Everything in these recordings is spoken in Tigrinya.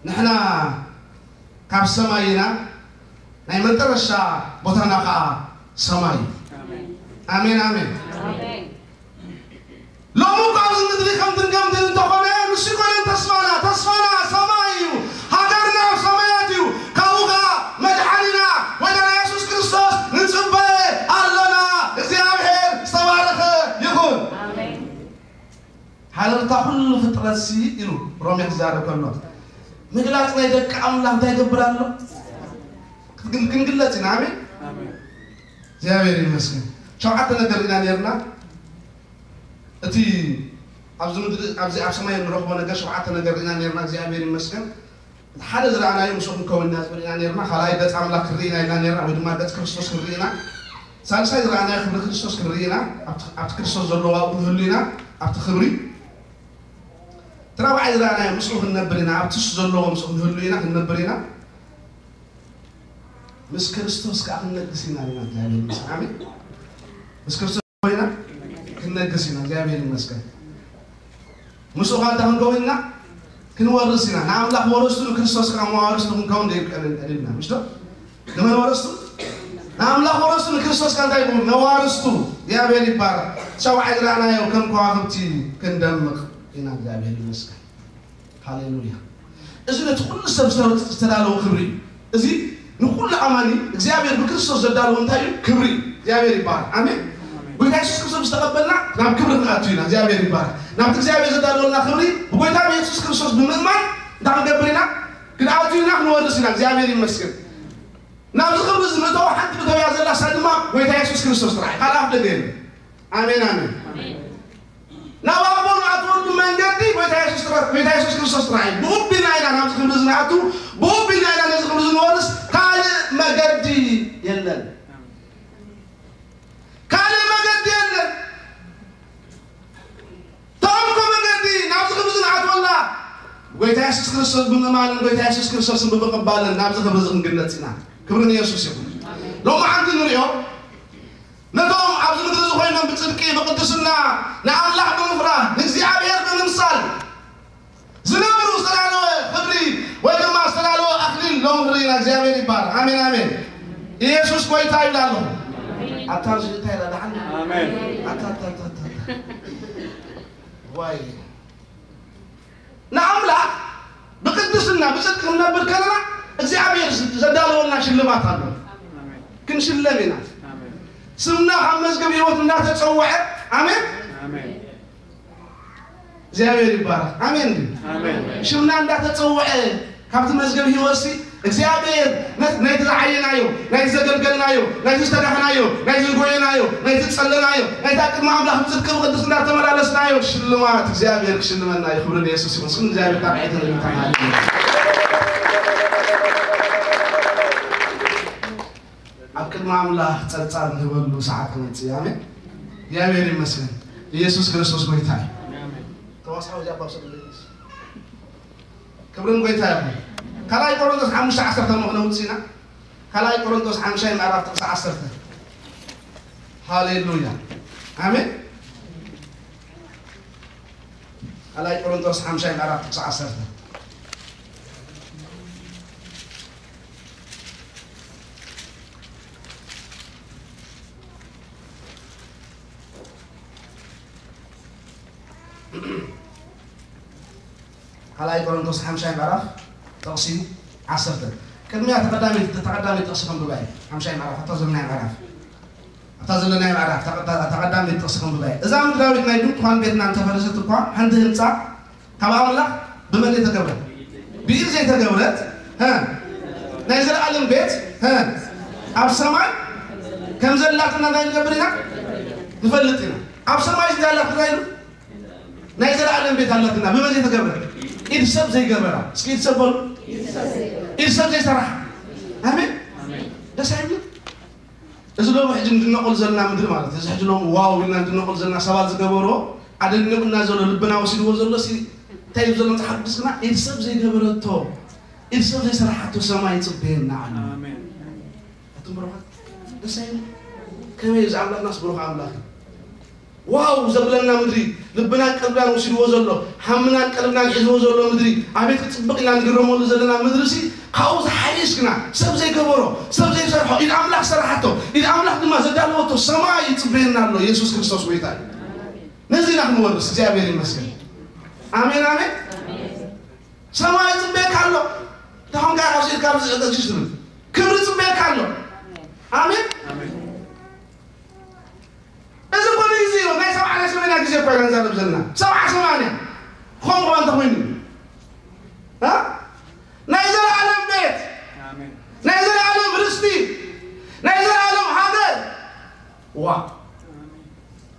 ንሕና ካብ ሰማይ ኢና፣ ናይ መጠረሻ ቦታና ከዓ ሰማይ እዩ። ኣሜን፣ ኣሜን። ሎሚ እኮ ኣብዚ ምድሪ ከምትን ከምትን እንተኾነ፣ ንሱ ኣይኮነን ተስፋና። ተስፋና ሰማይ እዩ። ሃገርና ኣብ ሰማያት እዩ። ካብኡ ከዓ መድሓኒና ወይና የሱስ ክርስቶስ ንጽበ ኣሎና። እግዚኣብሔር ዝተባረኸ ይኹን። ሓረርታ ኩሉ ፍጥረትሲ ኢሉ ሮሜ ክዛረብ ከሎ፣ ምግላጽ ናይ ደቂ ኣምላኽ እንታይ ይገብር ኣሎ? ክንግለጽ ኢና። ኣሜን። እግዚኣብሔር ይመስገን። ሸውዓተ ነገር ኢና ነርና። እቲ ኣብዚ ምድሪ ኣብዚ ኣብ ሰማይ እንረኽቦ ነገር ሸውዓተ ነገር ኢና ነርና። እግዚኣብሔር ይመስገን። ሓደ ዝረኣናዮ ምስኡ ክንከውን ኢና ዝብል ኢና ነርና። ካልኣይ ገጽ ኣምላኽ ክንርኢ ኢና ኢልና ነርና፣ ወይ ድማ ገጽ ክርስቶስ ክንርኢ ኢና። ሳልሳይ ዝረኣናዮ ክብሪ ክርስቶስ ክንርኢ ኢና። ኣብቲ ኣብቲ ክርስቶስ ዘለዎ ኣብኡ ክንህሉ ኢና። ኣብቲ ክብሪ እቲ ራብዓይ ዝረኣናዮ ምስኡ ክንነብር ኢና። ኣብቲ እሱ ዘለዎ ምስኡ ክንህሉ ኢና፣ ክንነብር ኢና። ምስ ክርስቶስ ከዓ ክንነግስ ኢና ኢልና እግዚኣብሔር ይመስገን። ኣሜን። ምስ ክርስቶስ ኮይና ክንነግስ ኢና። እግዚኣብሔር ይመስገን። ምስኡ ከዓ እንታይ ክንከውን ኢና? ክንወርስ ኢና። ንኣምላኽ ወረስቱ ንክርስቶስ ከዓ መዋርስቱ ክንከውን ደይብቀልን ቀሊልና ምሽቶ ንመን ወረስቱ? ንኣምላኽ ወረስቱ ንክርስቶስ ከዓ እንታይ ይኸውን? መዋርስቱ። እግዚኣብሔር ይባረክ። ሸውዓይ ዝረኣናዮ ከም ከዋክብቲ ክንደምቕ ኢና። እግዚኣብሔር ይመስገን። ሃሌሉያ። እዚ ነቲ ኩሉ ሰብ ዝተረ- ዝተዳለወ ክብሪ እዩ። እዚ ንኩሉ ኣማኒ እግዚኣብሔር ብክርስቶስ ዘዳለወ እንታይ እዩ? ክብሪ እዩ። እግዚኣብሔር ይባረክ። ኣሜን። ጎይታ የሱስ ክርስቶስ ዝተቐበልና ናብ ክብሪ ክንኣቱ ኢና። እግዚኣብሔር ይባረክ። ናብቲ እግዚኣብሔር ዘዳለወልና ክብሪ ብጎይታ ብየሱስ ክርስቶስ ብምእማን እንታይ ክንገብር ኢና? ክንኣቱ ኢና፣ ክንወርስ ኢና። እግዚኣብሔር ይመስገን። ናብዚ ክብሪ እዚ መእተዊ ሓንቲ መእተዊያ ዘላ እሳ ድማ ጎይታ የሱስ ክርስቶስ ጥራሕ እዩ። ካልእ ኣፍ ደገ የለን። ኣሜን፣ ኣሜን። ናብ ኣቦ ንኣትወሉ መንገዲ ጎይታ የሱስ ጥራ- ጎይታ የሱስ ክርስቶስ ጥራሕ እዩ። ብኡ ቢልና ኢና ናብዚ ክብሪ እዚ ንኣቱ፣ ብኡ ቢልና ኢና ነዚ ክብሪ እዚ ንወርስ። ካልእ መገዲ የለን። ካልእ መገዲ የለን። ተምኮ መገዲ ናብዚ ክብሪ እዚ ንኣትወላ ጎይታ የሱስ ክርስቶስ ብምእማንን ጎይታ የሱስ ክርስቶስን ብምቕባልን ናብዚ ክብሪ እዚ ክንግለጽ ኢና። ክብሪ ንየሱስ ይኹን። ሎሚ ሓንቲ ንሪኦ ነቶም ኣብዚ ምድሪ እዚ ኮይኖም ብጽድቂ ብቅድስና ንኣምላኽ ብምፍራህ ንእግዚኣብሔር ብምምሳል ዝነብሩ ዝተዳለወ ክብሪ ወይ ድማ ዝተዳለወ ኣክሊል ሎሚ ንርኢ ኢና። እግዚኣብሔር ይባረክ። ኣሜን፣ ኣሜን። ኢየሱስ ጎይታ ይብላ ኣለኹ። ኣታ እዚ እንታይ ኢላ ደሓን? ኣሜን። ኣታ፣ ኣታ፣ ኣታ፣ ኣታ፣ ኣታ። ዋይ። ንኣምላኽ ብቅድስና ብጽድቂ ክንነብር ከለና እግዚኣብሔር ዘዳለወልና ሽልማት ኣሎ። ክንሽለም ኢና። ኣሜን። ስምና ካብ መዝገብ ህይወት እንዳተጸውዐ፣ ኣሜን። ኣሜን። እግዚኣብሔር ይባረክ። ኣሜን። ኣሜን። ሽምና እንዳተጸውዐ ካብቲ መዝገብ ህይወትሲ እግዚኣብሔር ነ- ናይቲ ዝዓየናዮ፣ ናይቲ ዘገልገልናዮ፣ ናይቲ ዝተጋህናዮ፣ ናይቲ ዝጎየናዮ፣ ናይቲ ዝጸለናዮ፣ ናይቲ ኣብ ቅድሚ ኣምላኽ ብጽድቂ ብቅድስና ዝተመላለስናዮ ሽልማት እግዚኣብሔር ክሽልመና እዩ። ክብሪ ንየሱስ ይኹን። እስኪ እግዚኣብሔር ካብ ዓይተን ተማሪ ኣብ ቅድሚ ኣምላኽ ጸብጻብ ንህበሉ ሰዓት ክመጽእ እዩ። ኣሜን። እግዚኣብሔር ይመስገን። ኢየሱስ ክርስቶስ ጎይታ እዩ። ተዋሳኦ እዚኣ ባብ ሰለለይስ ክብርን ጎይታ ይኹን። ካልኣይ ቆሮንቶስ ሓሙሽተ ዓሰርተ ሞ ክነውጽእ ኢና። ካልኣይ ቆሮንቶስ ሓምሻይ ምዕራፍ ጥቕሲ ዓሰርተ። ሃሌሉያ። ኣሜን። ካልኣይ ቆሮንቶስ ሓምሻይ ምዕራፍ ጥቕሲ ዓሰርተ። ካልኣይ ቆሮንቶስ ሓምሻይ ምዕራፍ ጥቕሲ ዓሰርተ። ቅድሚያ ተቐዳሚት ተቐዳሚት ጥቕሲ ከንብባ እየ። ሓምሻይ ምዕራፍ ኣታ ዘለናይ ምዕራፍ ኣታ ዘለናይ ምዕራፍ ተቐዳ- ተቐዳሚት ጥቕሲ ከንብባ እየ። እዛ ምድራዊት ናይ ድንኳን ቤትና እንተፈረሰት እኳ ሓንቲ ህንፃ ካብ ኣምላኽ ብመን ዘይተገብረት? ብኢድ ዘይተገብረት ሀ ናይ ዘለኣለም ቤት ሀ ኣብ ሰማይ ከም ዘላትና እንታይ ንገብር ኢና? ንፈልጥ ኢና። ኣብ ሰማይ እንዳላት እንታይ ኢሉ ናይ ዘለኣለም ቤት ኣላትና ብመን ዘይተገብረ? ኢድ ሰብ ዘይገበራ። እስኪ ኢድ ሰብ በሉ። ኢድ ሰብ ዘይሰራሕ። ኣሜን። ደስ ኣይብል? እዚ ሎም ሕጂ እንድነቆል ዘለና ምድሪ ማለት እዚ ሕጂ ሎም ዋው ኢልና እንድነቆል ዘለና ሰባት ዝገበርዎ ኣደኒቁና ዘሎ ልብና ወሲድዎ ዘሎ ሲ እንታይ እዩ ዘሎ መጽሓፍ ቅዱስና ኢድ ሰብ ዘይገበረቶ ኢድ ሰብ ዘይሰራሓቶ ሰማይ ይጽበየና ኣሎ። ኣሜን። ኣቱም ብሩኻት ደስ ኣይብል? ከመይ እዚ ኣምላኽናስ ብሩኽ ኣምላኽ እዩ። ዋው ዘብለና ምድሪ፣ ልብናን ቀልብናን ወሲድዎ ዘሎ፣ ሃምናን ቀልብናን ሒዝዎ ዘሎ ምድሪ፣ ኣቤት ክጽብቕ ኢልና ንግረመሉ ዘለና ምድሪ ሲ፣ ካብኡ ዝሓይሽ ግና፣ ሰብ ዘይገበሮ፣ ሰብ ዘይሰርሖ፣ ኢድ ኣምላኽ ዝሰራሓቶ፣ ኢድ ኣምላኽ ድማ ዘዳለወቶ ሰማይ ይጽበየና ኣሎ። ኢየሱስ ክርስቶስ ጎይታ እዩ። ነዚ ኢና ክንወርስ። እግዚኣብሔር ይመስገን። ኣሜን፣ ኣሜን። ሰማይ ይጽበየካ ኣሎ። ታሁን ጋር ኣብዚ ኢልካ ኣብዚ ዝእገዝሽ ትብል። ክብሪ ይጽበየካ ኣሎ። ኣሜን። እዚ እኮ ንግዜ እዩ። ናይ ሰብዓ ናይ ሰማንያ ግዜ እኮ ኢና ንዛረብ ዘለና። ሰብዓ ሰማንያ። ክኸውን ክኸውን እንተኾይኑ። እ? ናይ ዘለኣለም ቤት። ኣሜን። ናይ ዘለኣለም ርስቲ። ናይ ዘለኣለም ሃገር። ዋ።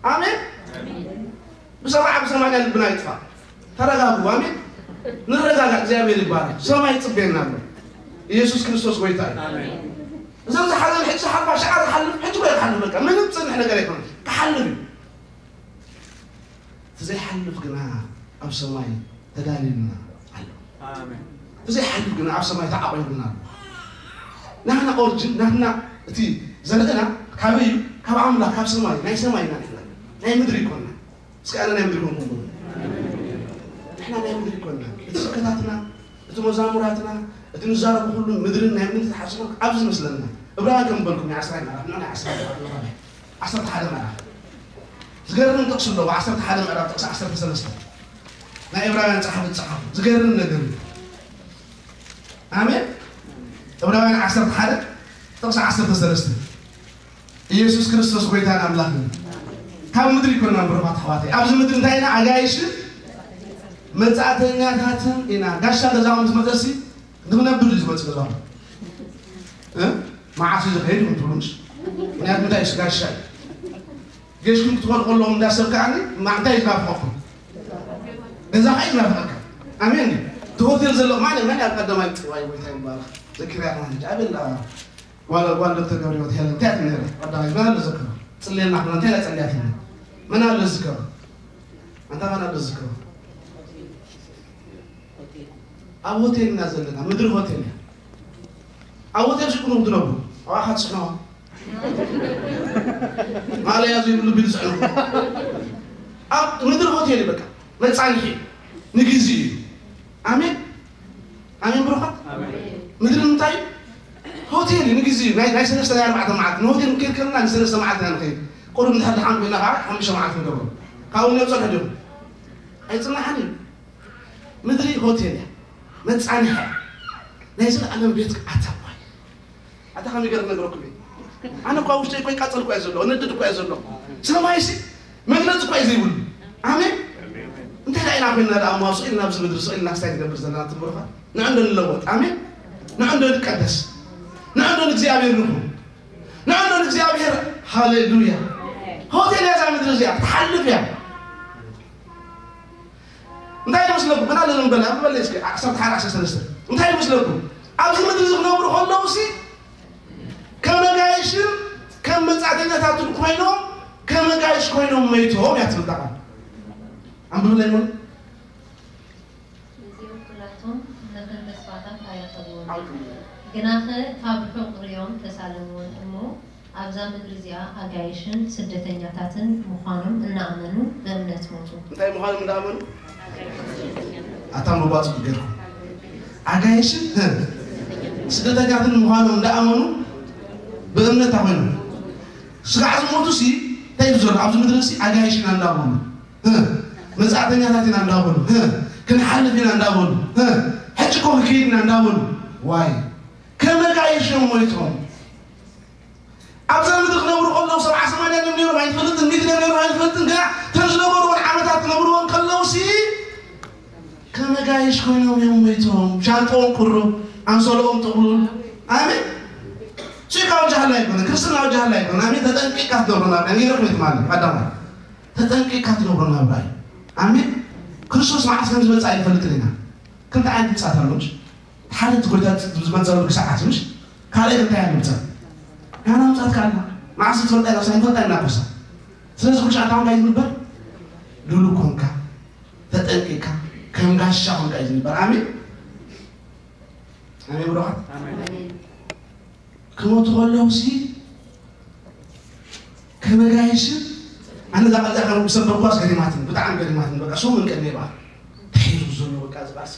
ኣሜን። ብሰብዓ ብሰማንያ ልብና ይጥፋ። ተረጋጉ። ኣሜን። ንረጋጋ። እግዚኣብሔር ይባረክ። ሰማይ ይጽበየና ኣሎ። ኢየሱስ ክርስቶስ ጎይታ እዩ። ኣሜን። እዞም ዝሓዘን ሕጂ ዝሓልፋ ሸዓ ዝሓልፍ ሕጂ እኮ ይሓልፍ። በቃ ምንም ጽንሕ ነገር ኣይኮነን። ክሓልፍ እዩ። እቲ ዘይሓልፍ ግና ኣብ ሰማይ ተዳልዩልና ኣሎ። ኣሜን። እቲ ዘይሓልፍ ግና ኣብ ሰማይ ተዓቂቡልና ኣሎ። ናህና ኦሪጅን፣ ናህና እቲ ዘርእና ካበይ እዩ? ካብ ኣምላኽ፣ ካብ ሰማይ፣ ናይ ሰማይ ኢና ንሕና። ናይ ምድሪ ኣይኮንና። እስኪ ኣነ ናይ ምድሪ ኮንኩ በሉ። ንሕና ናይ ምድሪ ኣይኮንና። እቲ ስብከታትና፣ እቲ መዛሙራትና፣ እቲ ንዛረቡ ኩሉ ምድርን ናይ ምድሪ ተሓስቦ ኣብዚ መስለና። እብራውያን ከም በልኩም ናይ ዓስራይ ምዕራፍ፣ ናይ ዓስራይ ምዕራፍ፣ ዓሰርተ ሓደ ምዕራፍ። ዝገርም ጥቕሲ ኣለዎ። ዓሰርተ ሓደ ምዕራፍ ጥቕሲ ዓሰርተ ሰለስተ። ናይ ዕብራውያን ጸሓፊ ዝጸሓፎ። ዝገርም ነገር እዩ። ኣሜን። ዕብራውያን ዓሰርተ ሓደ ጥቕሲ ዓሰርተ ሰለስተ። ኢየሱስ ክርስቶስ ጎይታን ኣምላኽን። ካብ ምድሪ ኣይኮንና ብሩኻት ኣሕዋተይ። ኣብዚ ምድሪ እንታይ ኢና? ኣጋይሽን መጻእተኛታትን ኢና። ጋሻ ገዛኹም ምስ መጸሲ ንኽነብር እዩ ዝመጽእ ገዛኹም። እ? መዓስ እዩ ዝኸይድ ኢኹም ትብሉ ምሽ? ምኽንያቱ እንታይ እዩ? ጋሻ እዩ። ጌሽኩም ክትኾኑ ከለኹም እንዳሰብ ከዓኒ ማ-፣ እንታይ እዩ ዝናፍቐኩም? ገዛ ኸዓ እዩ ዝናፍቐካ። ኣሜን። እቲ ሆቴል ዘሎ ማን፣ መን ኣብ ቀዳማይ ጽዋይ ጎይታ ይባረኽ። ዘኪርያ ከማን ሕጂ ኣበላ ጓል፣ ጓል ዶክተር ገብረህይወት ሄለን እንታይ ትብል ነይራ? ቀዳማይ መን ኣሎ ዝዝክሮ? ጽልየልና ክብላ እንታይ ኢላ ጸልያትና? መን ኣሎ ዝዝክሮ? ኣንታ መን ኣሎ ዝዝክሮ? ኣብ ሆቴል ኢና ዘለና፣ ምድሪ ሆቴል እያ። ኣብ ሆቴል ሽኩም ትነብሩ፣ ኣብኣ ትስሕኑ። ማለያ ዘይብሉ ቢል ዝስሕኑ። ኣብ ምድሪ ሆቴል እዩ በቃ፣ መጻንሒ ንግዜ እዩ። ኣሜን። ኣሜን ብሩኻት። ኣሜን። ምድሪ እንታይ እዩ? ሆቴል እዩ፣ ንግዜ እዩ። ናይ፣ ናይ ሰለስተ ናይ ኣርባዕተ መዓልቲ። ንሆቴል ክንከይድ ከለና ንሰለስተ መዓልቲ ኢና ንኸይድ። ቁሩብ እንድሕር ደሓን ኮይና ከዓ ሓሙሽተ መዓልቲ ንገብሮ። ካብኡ ንወፅእ ሕዲሩ። ኣይፅናሕን እዩ። ምድሪ ሆቴል እያ። መፃንሒ እያ። ናይ ዘለኣለም ቤት ኣታ እኳ እዩ። ኣታ ከመይ ገይረ ክነግረኩም እየ? ኣነ እኳ ውሽጠይ እኮ ይቃፀል እኮ እየ ዘሎ፣ እነድድ እኮ እየ ዘሎ። ሰማይሲ መግለፂ እኮ እዩ ዘይብሉ። ኣሜን። እንታይ ደኣ ኢና ኮይንና ደኣ እሞ ስቕ ኢልና ኣብዚ ምድሪ ስቕ ኢልና ክስታይ ንገብር ዘለና ትብሉኻ? ንዕንዶ ንለወጥ። ኣሜን። ንዕንዶ ንቀደስ። ንዕንዶ ንእግዚኣብሔር ንኹን። ንዕንዶ ንእግዚኣብሔር። ሃሌሉያ። ሆቴል እያ እዛ ምድሪ እዚኣ፣ ክትሓልፍ እያ። እንታይ ይመስለኩም? ምን ኣለ ንበል፣ ኣንብበለይ እስኪ፣ ዓሰርተ ሓደ ዓሰርተ ሰለስተ። እንታይ ይመስለኩም? ኣብዚ ምድሪ እዚ ክነብሩ ከለዉ ሲ፣ ከም ኣጋይሽን ከም መጻእተኛታትን ኮይኖም፣ ከም ኣጋይሽ ኮይኖም መይቶም እያ ትብል እታ ቃል። ኣንብብለይ እሞ። እዚኦም ኩላቶም ነተን ተስፋታት ኣይረኸብዎን። ግናኸ ካብ ርሑቕ ርእዮም ተሳለምዎን እሞ፣ ኣብዛ ምድሪ እዚኣ ኣጋይሽን ስደተኛታትን ምዃኖም እናኣመኑ ብእምነት ሞቱ። እንታይ ምዃኖም እንዳኣመኑ? ኣታ ምባጽ ገርኩ። ኣጋይሽን፣ ህ፣ ስደተኛትን ምዃኖም እንዳኣመኑ ብእምነት ኣኾይኑ። ስጋዕ ዝሞቱ ሲ፣ እንታይ እዩ ዘሎ? ኣብዚ ምድሪ ሲ ኣጋይሽን እንዳበሉ። ህ፣ መጻእተኛታት ኢና እንዳበሉ። ህ፣ ክንሓልፍ ኢና እንዳበሉ። ህ፣ ሕጂ እኮ ክንከይድ ኢና እንዳበሉ። ዋይ፣ ከመጋይሽ እዮም ሞይቶም። ኣብዛ ምድሪ ክነብሩ ከለዉ ሰብዓ ሰማንያ ድዮም ነይሮም ኣይንፈልጥን፣ ሚእቲ ድዮም ነይሮም ኣይንፈልጥን። ግና እተን ዝነበርዎን ዓመታት ክነብርዎን ከለዉ ሲ፣ ከመጋይሽ ኮይኖም እዮም ሞይቶም። ሻንጥኦም ቁሩብ፣ ኣንሶልኦም ጥቕሉል። ኣሜን። ሲ ካብ ወጃህላ ኣይኮነ፣ ክርስትና ወጃህላ ኣይኮነ። ኣሜን። ተጠንቂቕካ ክትነብሮ ናብራ። ነይረ ኮይት ማለት ኣዳማ። ተጠንቂቕካ ክትነብሮ ናብራ እዩ። ኣሜን። ክርስቶስ መዓስ ከም ዝመጽእ ኣይንፈልጥን ኢና። ክልተ ዓይነት ምጽኣት ኣሎ፣ ምሽ? ሓደ እቲ ጎይታ ዝመጸሉ ሰዓት፣ ምሽ? ካልኣይ እንታይ ኣሎ ምጽኣት? ናና ምጽኣት ካልና መዓስ ትፈልጣ ኢና፣ ሳይ ትፈልጣ ኢና ኮሳ። ስለዚ ኩሉ ሰዓት እንታይ ዝንበር? ድሉው ኮንካ፣ ተጠንቂቕካ፣ ከም ጋሻ ኮንካ እዩ ዝንበር። ኣሜን። ኣሜን ብሩኻት። ኣሜን። ክሞቱ ከለዉ ሲ ከመጋይሽን ኣነ እዛ ቃል እዚኣ ካብ ዝሰበኳስ ገሪማትኒ፣ ብጣዕሚ ገሪማትኒ። በቃ ሰሙን ቀኒየ በቃ ተሒዙ ዘሎ በቃ እዚ ቃልሲ።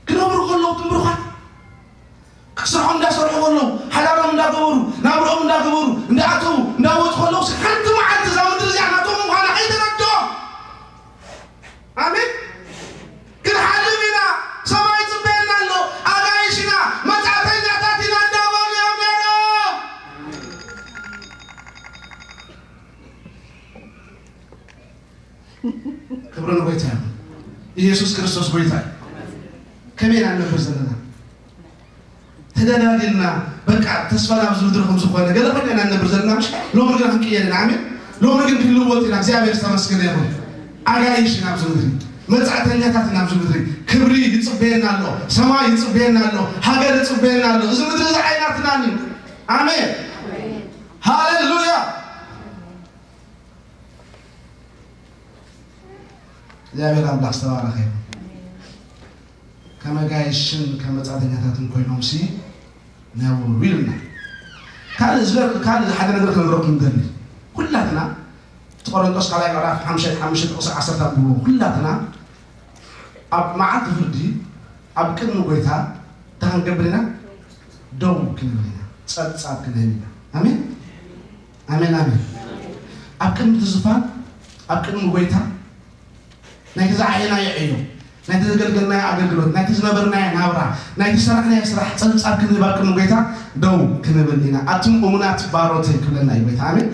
ክነብሩ ከለዉ ትምብርኳት፣ ክስርሖም እንዳሰርሑ ከለዉ፣ ሓዳሮም እንዳገበሩ፣ ናብርኦም እንዳገበሩ፣ እንዳኣተዉ እንዳወፁ ከለዉ፣ ሓንቲ መዓልቲ እዛ ምድሪ እዚኣ ናቶም ምዃና ከይተረድኦም። ኣሜን። ክንሓልፍ ኢና፣ ሰማይ ይፅበየና ኣሎ፣ ኣጋይሽ ኢና፣ መጻእተኛታት ኢና እንዳበሉ እዮም ነይሮም። ክብሪ ንጎይታ ይኹን። ኢየሱስ ክርስቶስ ጎይታ እዩ። ከመይ ኢና ንነብር ዘለና? ተደላዲልና፣ በቃ ተስፋ ናብዚ ምድሪ ከም ዝኾነ ገለ ኮይና ኢና ንነብር ዘለና። ምሽ ሎሚ ግን ክንቅየር ኢና። ኣሜን። ሎሚ ግን ክንልወጥ ኢና። እግዚኣብሔር ዝተመስገነ ይኹን። ኣጋይሽ ኢና ኣብዚ ምድሪ፣ መጻእተኛታት ኢና ኣብዚ ምድሪ። ክብሪ ይጽበየና ኣሎ፣ ሰማይ ይጽበየና ኣሎ፣ ሃገር ይጽበየና ኣሎ። እዚ ምድሪ እዚ ዓይናትናን እዩ። ኣሜን። ሃሌሉያ። እግዚኣብሔር ኣምላኽ ዝተባረኸ ይኹን። ከም ኣጋይሽን ከም መጻእተኛታትን ኮይኖም ሲ ነብሩ ኢልና። ካልእ ዝገር-፣ ካልእ ሓደ ነገር ክነግረኩም ንደሊ። ኩላትና እቲ ቆሮንቶስ ካልኣይ ምዕራፍ ሓምሻይ ሓሙሽተ ጥቕሲ ዓሰርተ ኣንብብዎ። ኩላትና ኣብ መዓልቲ ፍርዲ ኣብ ቅድሚ ጎይታ እንታይ ክንገብር ኢና? ደው ክንብል ኢና። ጸብጻብ ክንህብ ኢና። ኣሜን፣ ኣሜን፣ ኣሜን። ኣብ ቅድሚ እቲ ዝፋን፣ ኣብ ቅድሚ ጎይታ ናይቲ ዝዓየናዮ ዕዮ፣ ናይቲ ዘገልገልናዮ ኣገልግሎት፣ ናይቲ ዝነበርናዮ ናብራ፣ ናይቲ ዝሰራሕናዮ ስራሕ ጸብጻብ ክንህብ ኣብ ቅድሚ ጎይታ ደው ክንብል ኢና። ኣቱም እሙናት ባሮተይ ክብለና እዩ ጎይታ። ኣሜን።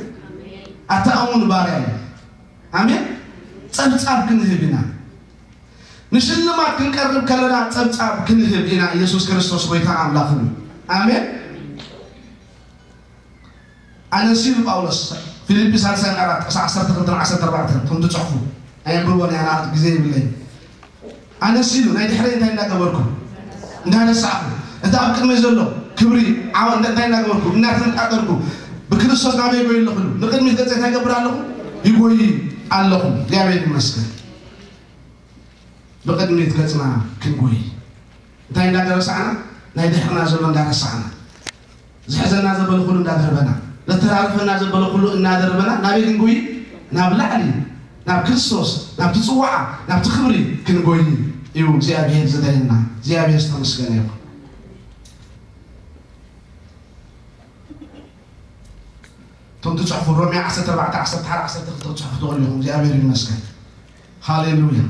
ኣታ እሙን ባርያ እዩ። ኣሜን። ጸብጻብ ክንህብ ኢና። ንሽልማት ክንቀርብ ከለና ጸብጻብ ክንህብ ኢና። ኢየሱስ ክርስቶስ ጎይታ ኣምላኽን እዩ። ኣሜን። ኣነስ ኢሉ ጳውሎስ፣ ፊልጲ ሳልሳይ ምዕራፍ ጥቕሲ ዓሰርተ ክልተ ዓሰርተ ኣርባዕተ፣ ከም ትጽሕፉ ኣየንብቦን እያ፣ ንኣት ግዜ ይብለይ። ኣነስ ኢሉ ናይ ድሕረይ እንታይ እንዳገበርኩ? እንዳረሳዕኩ። እቲ ኣብ ቅድመይ ዘሎ ክብሪ ዓወት እንታይ እንዳገበርኩ? እናተመጣጠርኩ ብክርስቶስ ናበይ ይጎይ ኣለኹ? ንቅድሚት ገጸ እንታይ ይገብር ኣለኹ? ይጎይ ኣለኹ። እግዚኣብሔር ይመስገን። ብቕድሚት ገጽና ክንጎይ። እንታይ እንዳረሳዕና? ናይ ድሕርና ዘሎ እንዳረሳዕና። ዝሕዘና ዘበለ ኩሉ እንዳደርበና። ዘተራርፈና ዘበለ ኩሉ እናደርበና። ናበይ ክንጎይ? ናብ ላዕሊ። ናብ ክርስቶስ፣ ናብቲ ጽዋዓ፣ ናብቲ ክብሪ ክንጎይ እዩ እግዚኣብሔር ዝደልየና። እግዚኣብሔር ዝተመስገነ ይኹን። እቶም ትጽሕፉ ሮሜ ዓሰርተ ኣርባዕተ ዓሰርተ ሓደ ዓሰርተ ክልተ ክትጽሕፉ ትኽእሉ ኢኹም። እግዚኣብሔር ይመስገን። ሃሌሉያ።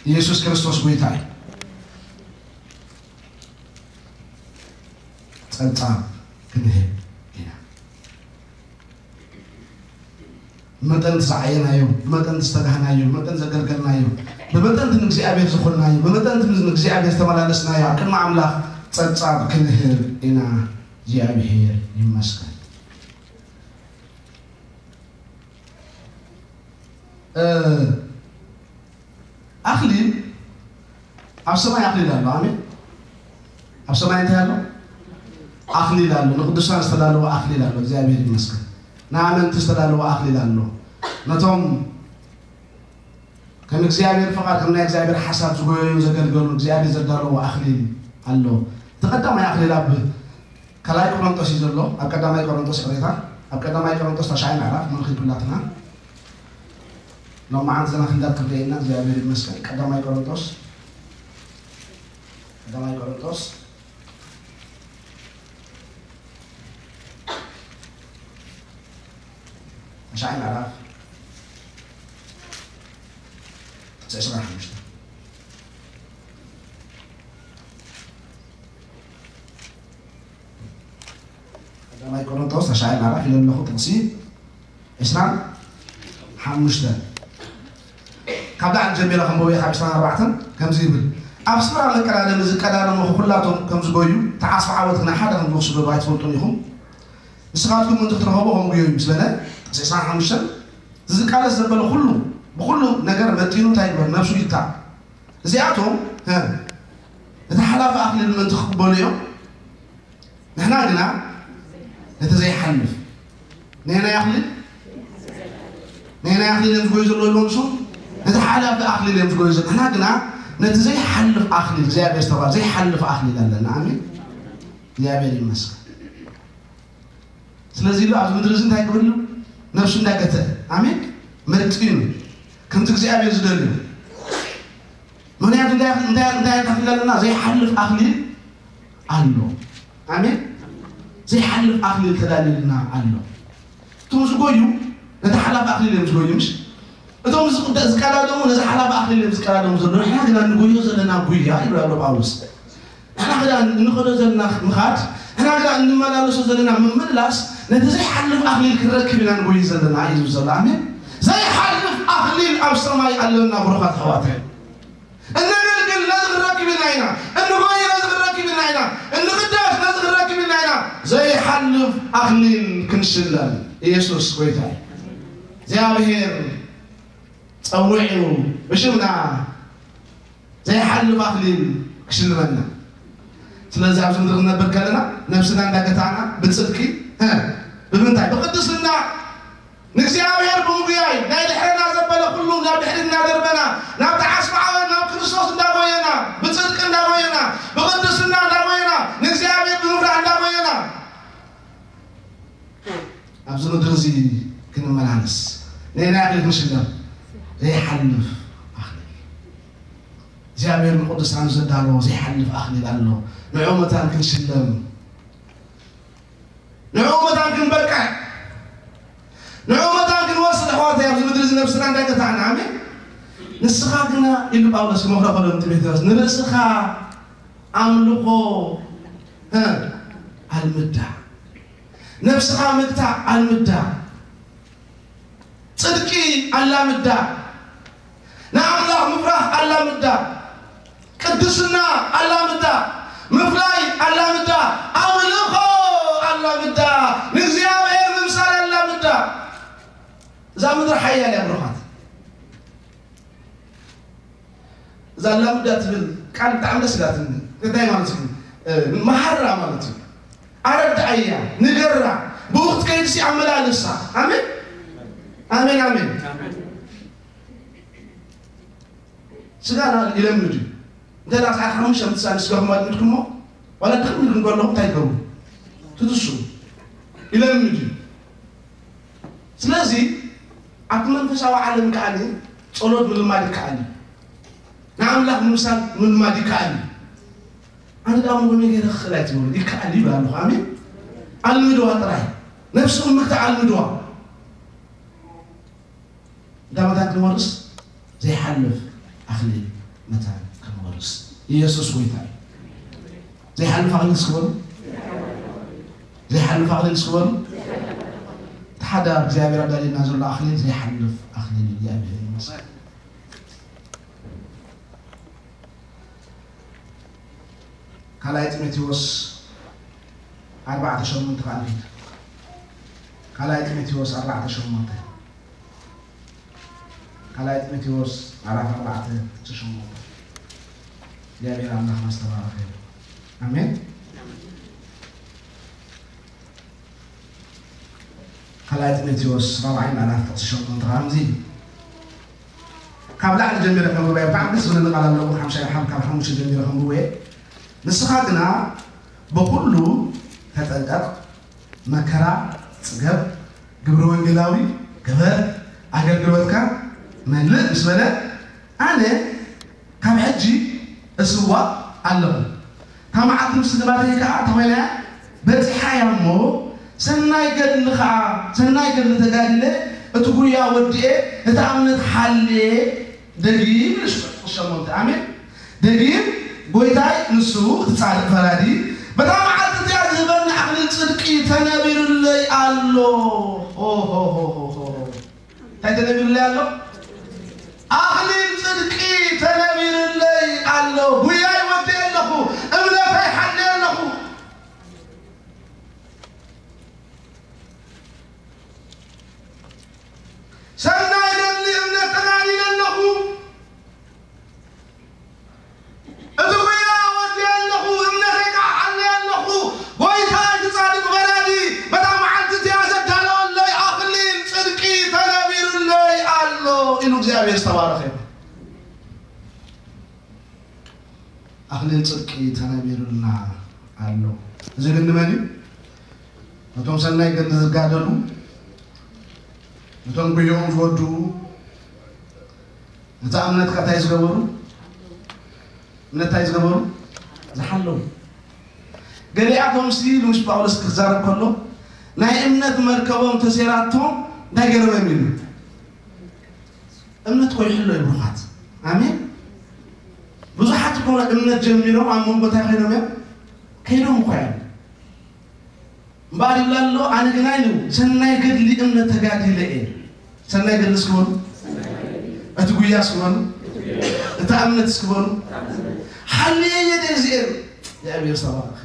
ኢየሱስ ክርስቶስ ጎይታ እዩ። ጸብጻብ ክንህብ ኢና። ብመጠን እቲ ዝዓየናዮ፣ ብመጠን እቲ ዝተጋህናዮ፣ ብመጠን ዘገልገልናዮ፣ ብመጠን እቲ ንእግዚኣብሔር ዝኾንናዮ፣ ብመጠን እቲ ንእግዚኣብሔር ዝተመላለስናዮ ኣብ ቅድሚ ኣምላኽ ጸብጻብ ክንህብ ኢና። እግዚኣብሔር ይመስገን። እ፣ ኣኽሊል፣ ኣብ ሰማይ ኣኽሊል ኣሎ። ኣሜን። ኣብ ሰማይ እንታይ ኣሎ? ኣኽሊል ኣሎ። ንቅዱሳን ዝተዳለወ ኣኽሊል ኣሎ። እግዚኣብሔር ይመስገን። ንኣመንቲ ዝተዳለወ ኣኽሊል ኣሎ። ነቶም ከም እግዚኣብሔር ፍቓድ፣ ከም ናይ እግዚኣብሔር ሓሳብ ዝጎየዩ ዘገልገሉ እግዚኣብሔር ዘዳለዎ ኣኽሊል ኣሎ። እቲ ቀዳማይ ኣኽሊል ኣብ ካልኣይ ቆሮንቶስ እዩ ዘሎ። ኣብ ቀዳማይ ቆሮንቶስ፣ ይቕሬታ፣ ኣብ ቀዳማይ ቆሮንቶስ ታሽዓይ ምዕራፍ፣ ምልክት ኩላትና ሎማዓንቲ ዘና ክንዳት ክንደየና እግዚኣብሔር ይመስገን። ቀዳማይ ቆሮንቶስ፣ ቀዳማይ ቆሮንቶስ ታሽዓይ ምዕራፍ፣ ጥቕሲ ዕስራን ሓሙሽተን። ቀዳማይ ቆሮንቶስ ታሽዓይ ምዕራፍ ኢለ ኣለኹ፣ ጥቕሲ ዕስራን ሓሙሽተን። ካብ ላዕሊ ጀሚረ ከንብቦ እየ፣ ካብ ዕስራን ኣርባዕተን ከምዚ ይብል፣ ኣብ ስፍራ መቀዳደሚ ዝቀዳደሙ ኩላቶም ከም ዝጎዩ፣ ተዓስቢ ዓወት ግና ሓደ ከም ዝወስዱ ዶ ኣይትፈልጡን ኢኹም? ንስኻትኩም ምእንቲ ክትረኸቡ ከም ጉየዩ ምስ በለ፣ ጥቕሲ ዕስራን ሓሙሽተን፣ ዝቃለስ ዘበለ ኩሉ፣ ብኩሉ ነገር መጢኑ እንታይ ይግበር? ነብሱ ይታእ። እዚኣቶም፣ ሀ፣ ነቲ ሓላፊ ኣኽሊል ምእንቲ ክቕበሉ እዮም። ንሕና ግና ነቲ ዘይሓልፍ። ነየናይ ኣኽሊል? ነየናይ ኣኽሊል እዮም ዝጎዩ ዘለዉ ኢልዎም ንሱ? ነቲ ሓላፊ ኣኽሊል እዮም ዝጎዩ ዘለዉ። ንሕና ግና ነቲ ዘይሓልፍ ኣኽሊል፣ እግዚኣብሔር ዝተባህለ ዘይሓልፍ ኣኽሊል ኣለና። ኣሜን። እግዚኣብሔር ይመስገን። ስለዚ ኢሉ ኣብዚ ምድሪ እዚ እንታይ ክብል ኢሉ? ነብሱ እንዳገተ፣ ኣሜን፣ መርጢኑ ከምቲ እግዚኣብሔር ዝደልዩ። ምክንያቱ እንታይ እንታይ እንታይ እንታይ ኣለና ዘይሓልፍ ኣኽሊል ኣሎ። ኣሜን። ዘይሓልፍ ኣኽሊል ተዳልዩልና ኣሎ። እቶም ዝጎዩ ነቲ ሓላፍ ኣኽሊል እዮም ዝጎዩ፣ ምሽ? እቶም ዝቀዳደሙ ነዚ ሓላፍ ኣኽሊል እዮም ዝቀዳደሙ ዘለዉ። ንሕና ግና ንጎዮ ዘለና ጉያ ይብሉ ኣሎ ጳውሎስ። ንሕና ግና እንኸዶ ዘለና ምኻድ፣ ንሕና ግና እንመላለሶ ዘለና ምምላስ ነቲ ዘይሓልፍ ኣኽሊል ክንረክብ ኢና ንጎይ ዘለና እዩ ዝብል ዘሎ። ኣሜን። ዘይሓልፍ ኣኽሊል ኣብ ሰማይ ኣለና ብሩኻት ኣሕዋት። እነገልግል ነዚ ክንረክብ ኢልና ኢና፣ እንጎይ ነዚ ክንረክብ ኢልና ኢና፣ እንቕዳስ ነዚ ክንረክብ ኢልና ኢና። ዘይሓልፍ ኣኽሊል ክንሽለም ኢየሱስ ጎይታ እዩ። እግዚኣብሔር ጸዊዑ ብሽምና ዘይሓልፍ ኣኽሊል ክሽልመና። ስለዚ ኣብዚ ምድሪ ክንነብር ከለና ነብስና እንዳገታና ብጽድቂ፣ እ፣ ብምንታይ? ብቅድስና። ንእግዚኣብሔር ብምጉያይ ናይ ድሕረና ዘበለ ኩሉ ናብ ድሕሪ እናደርበና ናብቲ ዓስቢ ዓወት ናብ ክርስቶስ እንዳጎየና ብጽድቂ እንዳጎየና ብቅድስና እንዳጎየና ንእግዚኣብሔር ብምፍራሕ እንዳጎየና ኣብዚ ምድሪ እዚ ክንመላለስ ነየናይ ኣኽሊል ክንሽለም? ዘይሓልፍ ኣኽሊል። እግዚኣብሔር ንቅዱሳኑ ዘዳለዎ ዘይሓልፍ ኣኽሊል ኣሎ። ንዕኡ መታን ክንሽለም፣ ንዕኡ መታን ክንበቅዕ፣ ንዕኡ መታን ክንወስድ ኣሕዋተይ ኣብዚ ምድሪ እዚ ነብስና እንዳገታዕና። ኣሜን። ንስኻ ግና ኢሉ ጳውሎስ ይመኽሮ ከሎ ንጢሞቴዎስ ንርእስኻ ኣምልኾ እ ኣልምዳ፣ ነብስኻ ምግታእ ኣልምዳ፣ ጽድቂ ኣላምዳ፣ ንኣምላኽ ምፍራሕ ኣላምዳ፣ ቅድስና ኣላምዳ፣ ምፍላይ ኣላምዳ፣ ኣምልኾ ኣላምዳ፣ ንእግዚኣብሔር ምምሳል ኣላምዳ። እዛ ምድሪ ሓያል እያ ብሩኻት። እዛ ኣላምዳ ትብል ቃል ብጣዕሚ ደስ ኢላትኒ። እንታይ ማለት እዩ? እ፣ መሃራ ማለት እዩ። ኣረድኣያ፣ ንገራ፣ ብኡ ክትከይድ ሲ ኣመላልሳ። ኣሜን? ኣሜን፣ ኣሜን። ስጋና ይለምድ እዩ። እንተ ደኣ ሰዓት ሓሙሽተ ምትሳን ስጋኹም ኣድሚድኩሞ፣ ዋላ ድኽም ኢልኩም ከለኹም እንታይ ትገብሩ? ትትሱ። ይለምድ እዩ። ስለዚ ኣብቲ መንፈሳዊ ዓለም ከኣ ጸሎት ምልማድ ይከኣል እዩ። ንኣምላኽ ምምሳል ምልማድ ይከኣል እዩ። ኣነ ደኣ እሞ ከመይ ገይረ ክኽእል ኣይትበሉ። ይከኣል እዩ ይብል ኣለኹ። ኣሜን። ኣልምድዋ ጥራይ። ነብስኹም ምግታእ ኣልምድዋ። እንታይ መታን ክንወርስ? ዘይሓልፍ ኣኽሊል መታን ክንወርስ። ኢየሱስ ጎይታ እዩ። ዘይሓልፍ ኣኽሊል እስኪ በሉ። ዘይሓልፍ ኣኽሊል እስኪ በሉ። እቲ ሓደ እግዚኣብሔር ኣዳልየና ዘሎ ኣኽሊል ዘይሓልፍ ኣኽሊል እዩ። እግዚኣብሔር ይመስገን። ካልኣይ ጢሞቴዎስ ኣርባዕተ ሸሞንተ ከዓ ንኺድ። ካልኣይ ጢሞቴዎስ ኣርባዕተ ሸሞንተ። ካልኣይ ጢሞቴዎስ ምዕራፍ ኣርባዕተ ጥቕሲ ሸሞንተ። እግዚኣብሔር ኣምላኽና ዝተባረኸ ይኹን። ኣሜን። ካልኣይ ጢሞቴዎስ ራብዓይ ምዕራፍ ጥቕሲ ሸሞንተ ከምዚ። ካብ ላዕሊ ጀሚረ ከንብበ እየ። ብጣዕሚ ደስ ዝብለኒ ቃል ኣለዎ። ሓምሻይ ካብ፣ ካብ ሓሙሽተ ጀሚረ ከንብበ እየ። ንስኻ ግና ብኹሉ ተጠንቀቕ፣ መከራ ጽገብ፣ ግብረ ወንጌላዊ ግበር፣ ኣገልግሎትካ መልእ ምስ በለ፣ ኣነ ካብ ሕጂ እስዋእ ኣለኹ። እታ መዓልቲ ምስ ትባተይ ከኣ ተኾይና በጺሓ እያ እሞ፣ ሰናይ ገድሊ ከኣ፣ ሰናይ ገድሊ ተጋዲለ፣ እቲ ጉያ ወዲኤ፣ እታ እምነት ሓልየ፣ ደጊም ንሱ ሸሞንተ። ኣሜን። ደጊም ጎይታይ ንሱ እቲ ጻድቕ ፈራዲ በታ መዓልቲ እዚኣ ዝህበኒ ኣኽሊል ጽድቂ ተነቢሩለይ ኣሎ። ሆ፣ ሆ፣ ሆ፣ ሆ፣ ሆ። እንታይ ተነቢሩለይ ኣሎ? ኣኽሊል ጽድቂ ተነቢሩለይ ኣሎ። ጉያይ ወዲኤ ኣለኹ፣ እምነተይ ሓልየ ኣለኹ። ሰናይ ገድሊ እምነት ተጋዲለ ኣለኹ። እቲ ጉያ ወዲኤ ኣለኹ፣ እምነተይ ከዓ ሓልየ ኣለኹ። ጎይታ እቲ ጻድቕ ፈራዲ በታ መዓልቲ እቲኣ ዘዳለወለይ ኣኽሊል ጽድቂ ተነቢሩለይ ኣሎ ኢሉ እግዚኣብሔር ዝተባረኸ ይኹን። ኣኽሊል ጽድቂ ተነቢሩልና ኣሎ። እዚ ግን ንመን እዩ? ነቶም ሰናይ ገድሊ ዝጋደሉ፣ እቶም ጉዮኦም ዝወድኡ፣ ነታ እምነትካ እንታይ ዝገበሩ? እምነት እንታይ ዝገበሩ? ዝሓለዉ። ገሊኣቶም ሲ፣ ምስ ጳውሎስ ክዛረብ ከሎ፣ ናይ እምነት መርከቦም ተሴራቶም እንታይ ገይሮም እዮም ኢሉ? እምነት ኮይሕሎ እዩ፣ ብሩኻት። ኣሜን። ብዙሓት እኮ እምነት ጀሚሮም ኣብ መንጎ እንታይ ኮይኖም እዮም? ከይዶም እኮ እዮም። እምበኣር ይብላ ኣሎ፣ ኣነ ግና ኢሉ፣ ሰናይ ገድሊ እምነት ተጋዲለ እየ። ሰናይ ገድሊ እስኪ በሉ። እቲ ጉያ እስኪ በሉ። እታ እምነት እስኪ በሉ። ሓልየ እየ ድየ እዚኤን? እግዚኣብሔር ዝተባረኸ።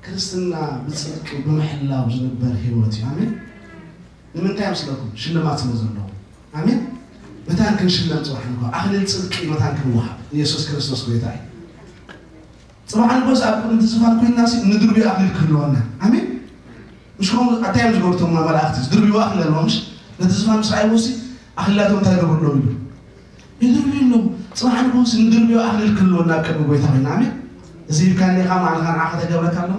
ክርስትና ብጽድቂ ብምሕላው ዝንበር ህይወት እዩ። ኣሜን። ንምንታይ መስለኩም? ሽልማት ስለ ዘለዎ። ኣሜን። መታን ክንሽለም ጽባሕ ንግሆ ኣኽሊል ጽድቂ መታን ክንወሃብ። ኢየሱስ ክርስቶስ ጎይታ እዩ። ጽባሕ ንግሆስ ኣብ ቅድሚ እቲ ዝፋን ኮይንና ሲ ንድርብዮ ኣኽሊል ክህልወና። ኣሜን። ምሽ ከምኡ ኣታይ እዮም ዝገብሩ እቶም መላእኽቲ? ዝድርብዮ ኣኽሊል ኣለዎም፣ ምሽ? ነቲ ዝፋን ምስ ረኣይዎ ሲ ኣኽሊላቶም እንታይ ይገብሩ ኣለዉ ኢሉ? ይድርብዩ ኣለዉ። ጽባሕ ንግሆስ ንድርብዮ ኣኽሊል ክህልወና ኣብ ቅድሚ ጎይታ ኮይንና። ኣሜን። እዚ ሂብካኒ ኢኻ፣ ማዕልኻ ንዓኻ ተገብረካ ኣሎ፣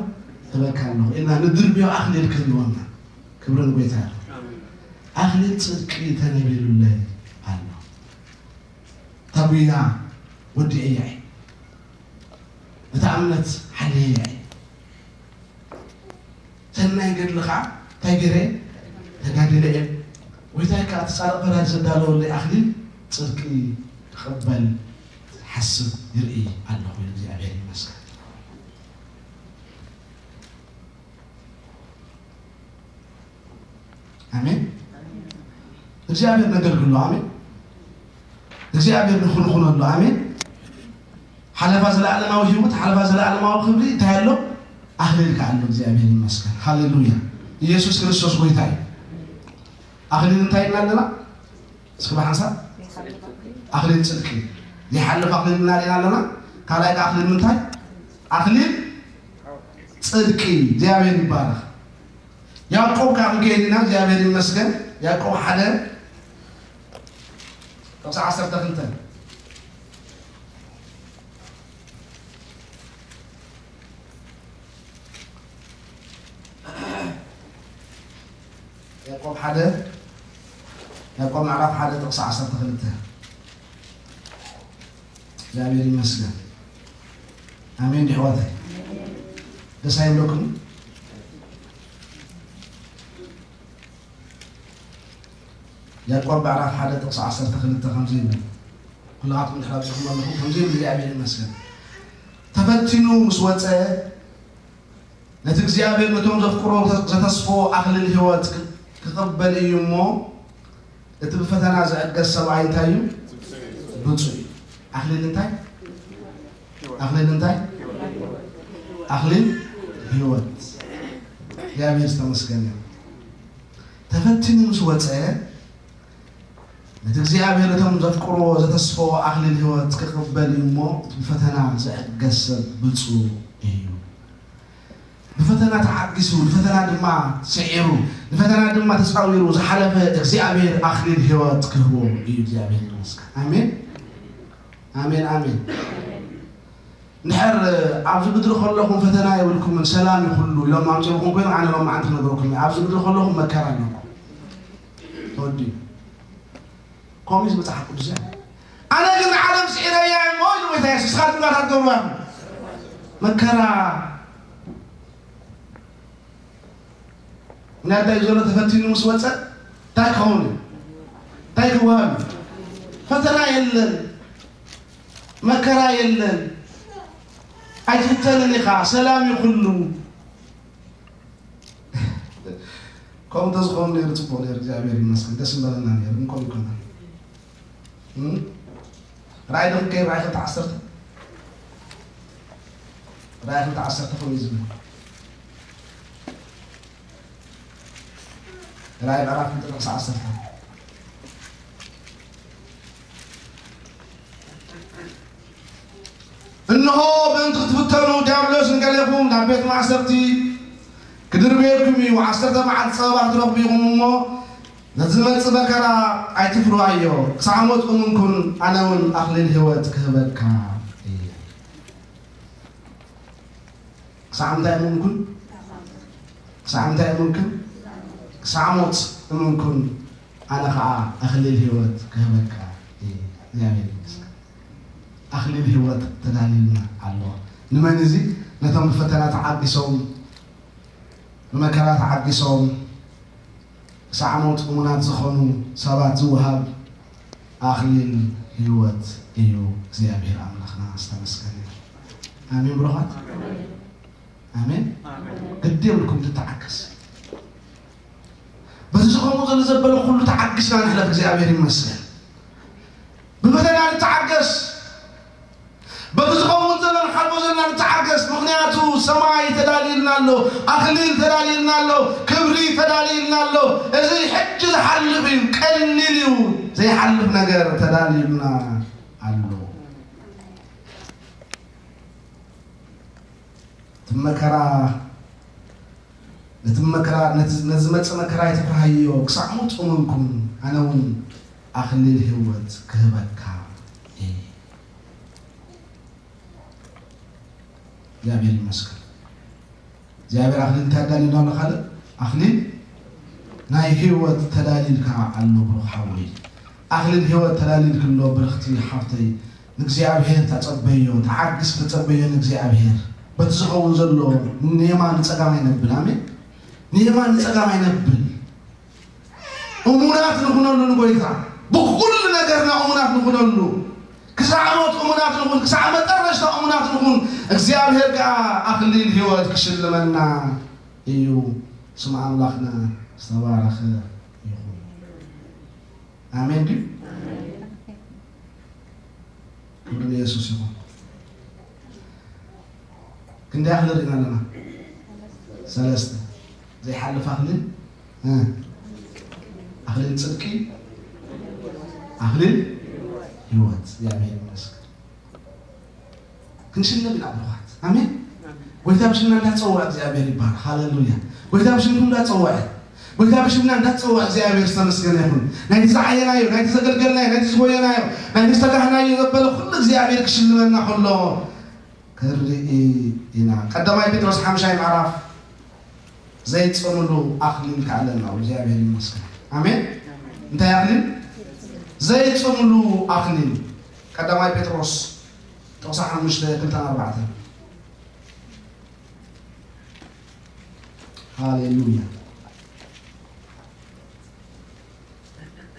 ክህበካ ኣሎ ኢልና ንድርብዮ ኣኽሊል ክህልወና። ክብሪ ንጎይታ ይኹን። ኣሜን። ኣኽሊል ጽድቂ ተነቢሩለይ ኣሎ። እታ ጉያ ወዲኤያ እየ። እታ እምነት ሓልየያ እየ። ሰናይ ገድሊ ኸዓ እንታይ ገይረ? ተጋዲለ እየ። ጎይታይ ከኣ እቲ ጻድቕ ፈራጅ ዘዳለወለይ ኣኽሊል ጽድቂ ክቕበል ሓስብ ይርኢ ኣለኹ ኢሉ። እግዚኣብሔር ይመስገን። ኣሜን። እግዚኣብሔር ነገልግሎ። ኣሜን። እግዚኣብሔር ንኹንኹነሉ። ኣሜን። ሓለፋ ዘለዓለማዊ ህይወት፣ ሓለፋ ዘለዓለማዊ ክብሪ እንታይ ኣሎ? ኣኽሊል ከኣ ኣሎ። እግዚኣብሔር ይመስገን። ሃሌሉያ። ኢየሱስ ክርስቶስ ጎይታ እዩ። ኣኽሊል እንታይ ኢልና ኣለና? እስኪ ብሓንሳብ ኣኽሊል ጽድቂ። ዘይሓልፍ ኣኽሊል ኢና ኣለና። ካልኣይ ከኣ ኣኽሊል ምንታይ? ኣኽሊል ጽድቂ። እግዚኣብሔር ይባረኽ። ያዕቆብ ከኣ ክንከይድ ኢና። እግዚኣብሔር ይመስገን። ያዕቆብ ሓደ ጥቕሲ ዓሰርተ ክልተ። ያዕቆብ ሓደ፣ ያዕቆብ ምዕራፍ ሓደ ጥቕሲ ዓሰርተ ክልተ። እግዚኣብሔር ይመስገን። ኣሜን ዲሕዋተይ። ደስ ኣይብለኩም? ያዕቆብ ምዕራፍ ሓደ ጥቕሲ ዓሰርተ ክልተ ከምዚ ይብል። ኩላትኩም ድሕር ኣቢኹም ኣለኹም። ከምዚ ይብል፣ እግዚኣብሔር ይመስገን። ተፈቲኑ ምስ ወጸ፣ ነቲ እግዚኣብሔር ነቶም ዘፍቅሮ ዘተስፎ ኣኽሊል ህይወት ክቕበል እዩ እሞ፣ እቲ ብፈተና ዝዕገስ ሰብኣይ እንታይ እዩ? ብፁዕ እዩ። ኣኽሊል እንታይ? ኣኽሊል እንታይ? ኣኽሊል ህይወት። እግዚኣብሔር ዝተመስገነ እዩ። ተፈቲኑ ምስ ወጸ፣ ነቲ እግዚኣብሔር እቶም ዘፍቅርዎ ዘተስፈዎ ኣኽሊል ህይወት ክቕበል እዩ እሞ፣ እቲ ብፈተና ዝዕገስ ሰብ ብፁዕ እዩ። ብፈተና ተዓጊሱ፣ ንፈተና ድማ ስዒሩ፣ ንፈተና ድማ ተጻዊሩ ዝሓለፈ እግዚኣብሔር ኣኽሊል ህይወት ክህቦ እዩ። እግዚኣብሔር ይመስገን። ኣሜን፣ ኣሜን፣ ኣሜን። እንድሕር ኣብዚ ምድሪ ከለኹም ፈተና የብልኩምን፣ ሰላም እዩ ኩሉ ኢሎም ኣምጺኦኩም ኮይኖም፣ ኣነ ሎም መዓንቲ ክነግረኩም እየ። ኣብዚ ምድሪ ከለኹም መከራ ኣለኩም። ተወዲኡ። ከምኡ እዩ መጽሓፍ ቅዱስ። ኣነ ግን ንዓለም ስዒረያ እሞ ኢሉ ጎይታ የሱስ። ንስኻትኩም እንታይ ትገብሩ ኢኹም? መከራ። ምኽንያት እንታይ እዩ ዘሎ? ተፈቲኑ ምስ ወጸ እንታይ ክኸውን እዩ? እንታይ ክወሃብ እዩ? ፈተና የለን፣ መከራ የለን፣ ኣይትፍተንን ኢኻ፣ ሰላም እዩ ኩሉ። ከምኡ እንተዝኸውን ነይሩ ጽቡቕ ነይሩ፣ እግዚኣብሔር ይመስገን፣ ደስ ምበለና ነይሩ። ግን ከምኡ ኣይኮነን። እም? ራእይ ዶ ክንከይድ? ራእይ ክልተ ዓሰርተ፣ ራእይ ክልተ ዓሰርተ ከምኡ እዩ ዝብል። ራእይ ምዕራፍ ክልተ ጥቕሲ ዓሰርተ። እንሆ፣ ምእንቲ ክትፍተኑ፣ ዲያብሎስ ንገሌኹም ናብ ቤት ማእሰርቲ ክድርብየኩም እዩ። ዓሰርተ መዓልቲ ጸበባ ክትረኽቡ ኢኹም እሞ፣ ነቲ ዝመጽእ መከራ ኣይትፍርሃዮ። ክሳዕ ሞት እሙን ኩን፣ ኣነ እውን ኣኽሊል ህይወት ክህበካ እየ። ክሳዕ ምንታይ እሙን ኩን? ክሳዕ ምንታይ እሙን ኩን? ክሳዕ ሞት እሙን ኩን። ኣነ ኸዓ ኣኽሊል ህይወት ክህበካ እየ። እግዚኣብሔር ይመስገን። ኣኽሊል ህይወት ተዳልዩልና ኣሎ። ንመን እዚ? ነቶም ብፈተና ተዓጊሶም፣ ብመከራ ተዓጊሶም፣ ክሳዕ ሞት እሙናት ዝኾኑ ሰባት ዝወሃብ ኣኽሊል ህይወት እዩ። እግዚኣብሔር ኣምላኽና ዝተመስገነ ይኹን። ኣሜን ብሩኻት። ኣሜን። ኣሜን። ግዲ የብልኩም ትተዓገስ። በዚ ዝኸውን ዘሎ ዘበለ ኩሉ ተዓጊስና ንሕለፍ። እግዚኣብሔር ይመስገን። ብፈተና ንተዓገስ። በዚ ዝኸውን ዘሎ ንሓልፎ ዘለና ንተዓገስ። ምኽንያቱ ሰማይ ተዳልዩልና ኣሎ፣ ኣኽሊል ተዳልዩልና ኣሎ፣ ክብሪ ተዳልዩልና ኣሎ። እዚ ሕጂ ዝሓልፍ እዩ፣ ቀሊል እዩ። ዘይሓልፍ ነገር ተዳልዩልና ኣሎ። እቲ መከራ፣ ነቲ መከራ፣ ነቲ፣ ነቲ ዝመጽእ መከራ ኣይትፍርሃዮ፣ ክሳዕ ሞት እመንኩም፣ ኣነ እውን ኣኽሊል ህይወት ክህበካ እየ። እግዚኣብሔር ይመስገን። እግዚኣብሔር ኣኽሊል እንታይ ኣዳልዩልና ኣሎ? ካልእ ኣኽሊል ናይ ህይወት ተዳልዩልካ ኣሎ ብሩኽ ሓወይ። ኣኽሊል ህይወት ተዳልዩልኪ ኣሎ ብርኽቲ ሓፍተይ። ንእግዚኣብሔር ተጸበዮ፣ ተዓግስ ተጸበዮ ንእግዚኣብሔር። በቲ ዝኸውን ዘሎ ንየማን ንጸጋም ኣይነብል። ኣሜን። ንየማን ንጸጋም ኣይነብል። እሙናት ንኹነሉ ንጎይታ። ብኹሉ ነገርና እሙናት ንኹነሉ። ክሳዕ ሞት እሙናት ንኹን፣ ክሳዕ መጠረሽታ እሙናት ንኹን። እግዚኣብሔር ከኣ ኣኽሊል ህይወት ክሽልመና እዩ። ስም ኣምላኽና ዝተባረኸ ይኹን። ኣሜን ድዩ? ክብሪ ንየሱስ ይኹን። ክንደይ ኣኽሊል ርኢና ኣለና? ሰለስተ። ዘይሓልፍ ኣኽሊል፣ እ፣ ኣኽሊል ጽድቂ፣ ኣኽሊል ህይወት። እግዚኣብሔር ይመስገን። ክንሽለም ኢና ብሩኻት። ኣሜን። ጎይታ ብሽምና እንዳጸውዐ እግዚኣብሔር ይባረክ። ሃሌሉያ። ጎይታ ብሽምኩም እንዳጸውዐ፣ ጎይታ ብሽምና እንዳጸውዐ እግዚኣብሔር ዝተመስገነ ይኹን። ናይቲ ዝዓየናዮ፣ ናይቲ ዘገልገልናዮ፣ ናይቲ ዝጎየናዮ፣ ናይቲ ዝተጋህናዮ ዘበለ ኩሉ እግዚኣብሔር ክሽልመና ከሎ ክንርኢ ኢና። ቀዳማይ ጴጥሮስ ሓምሻይ ምዕራፍ ዘይጽምሉ ኣኽሊል ከኣለና እግዚኣብሔር ይመስገን። ኣሜን። እንታይ ኣኽሊል? ዘይጽምሉ ኣኽሊል። ቀዳማይ ጴጥሮስ ጥቕሲ ሓሙሽተ፣ ክልተን ኣርባዕተን። ሃሌሉያ።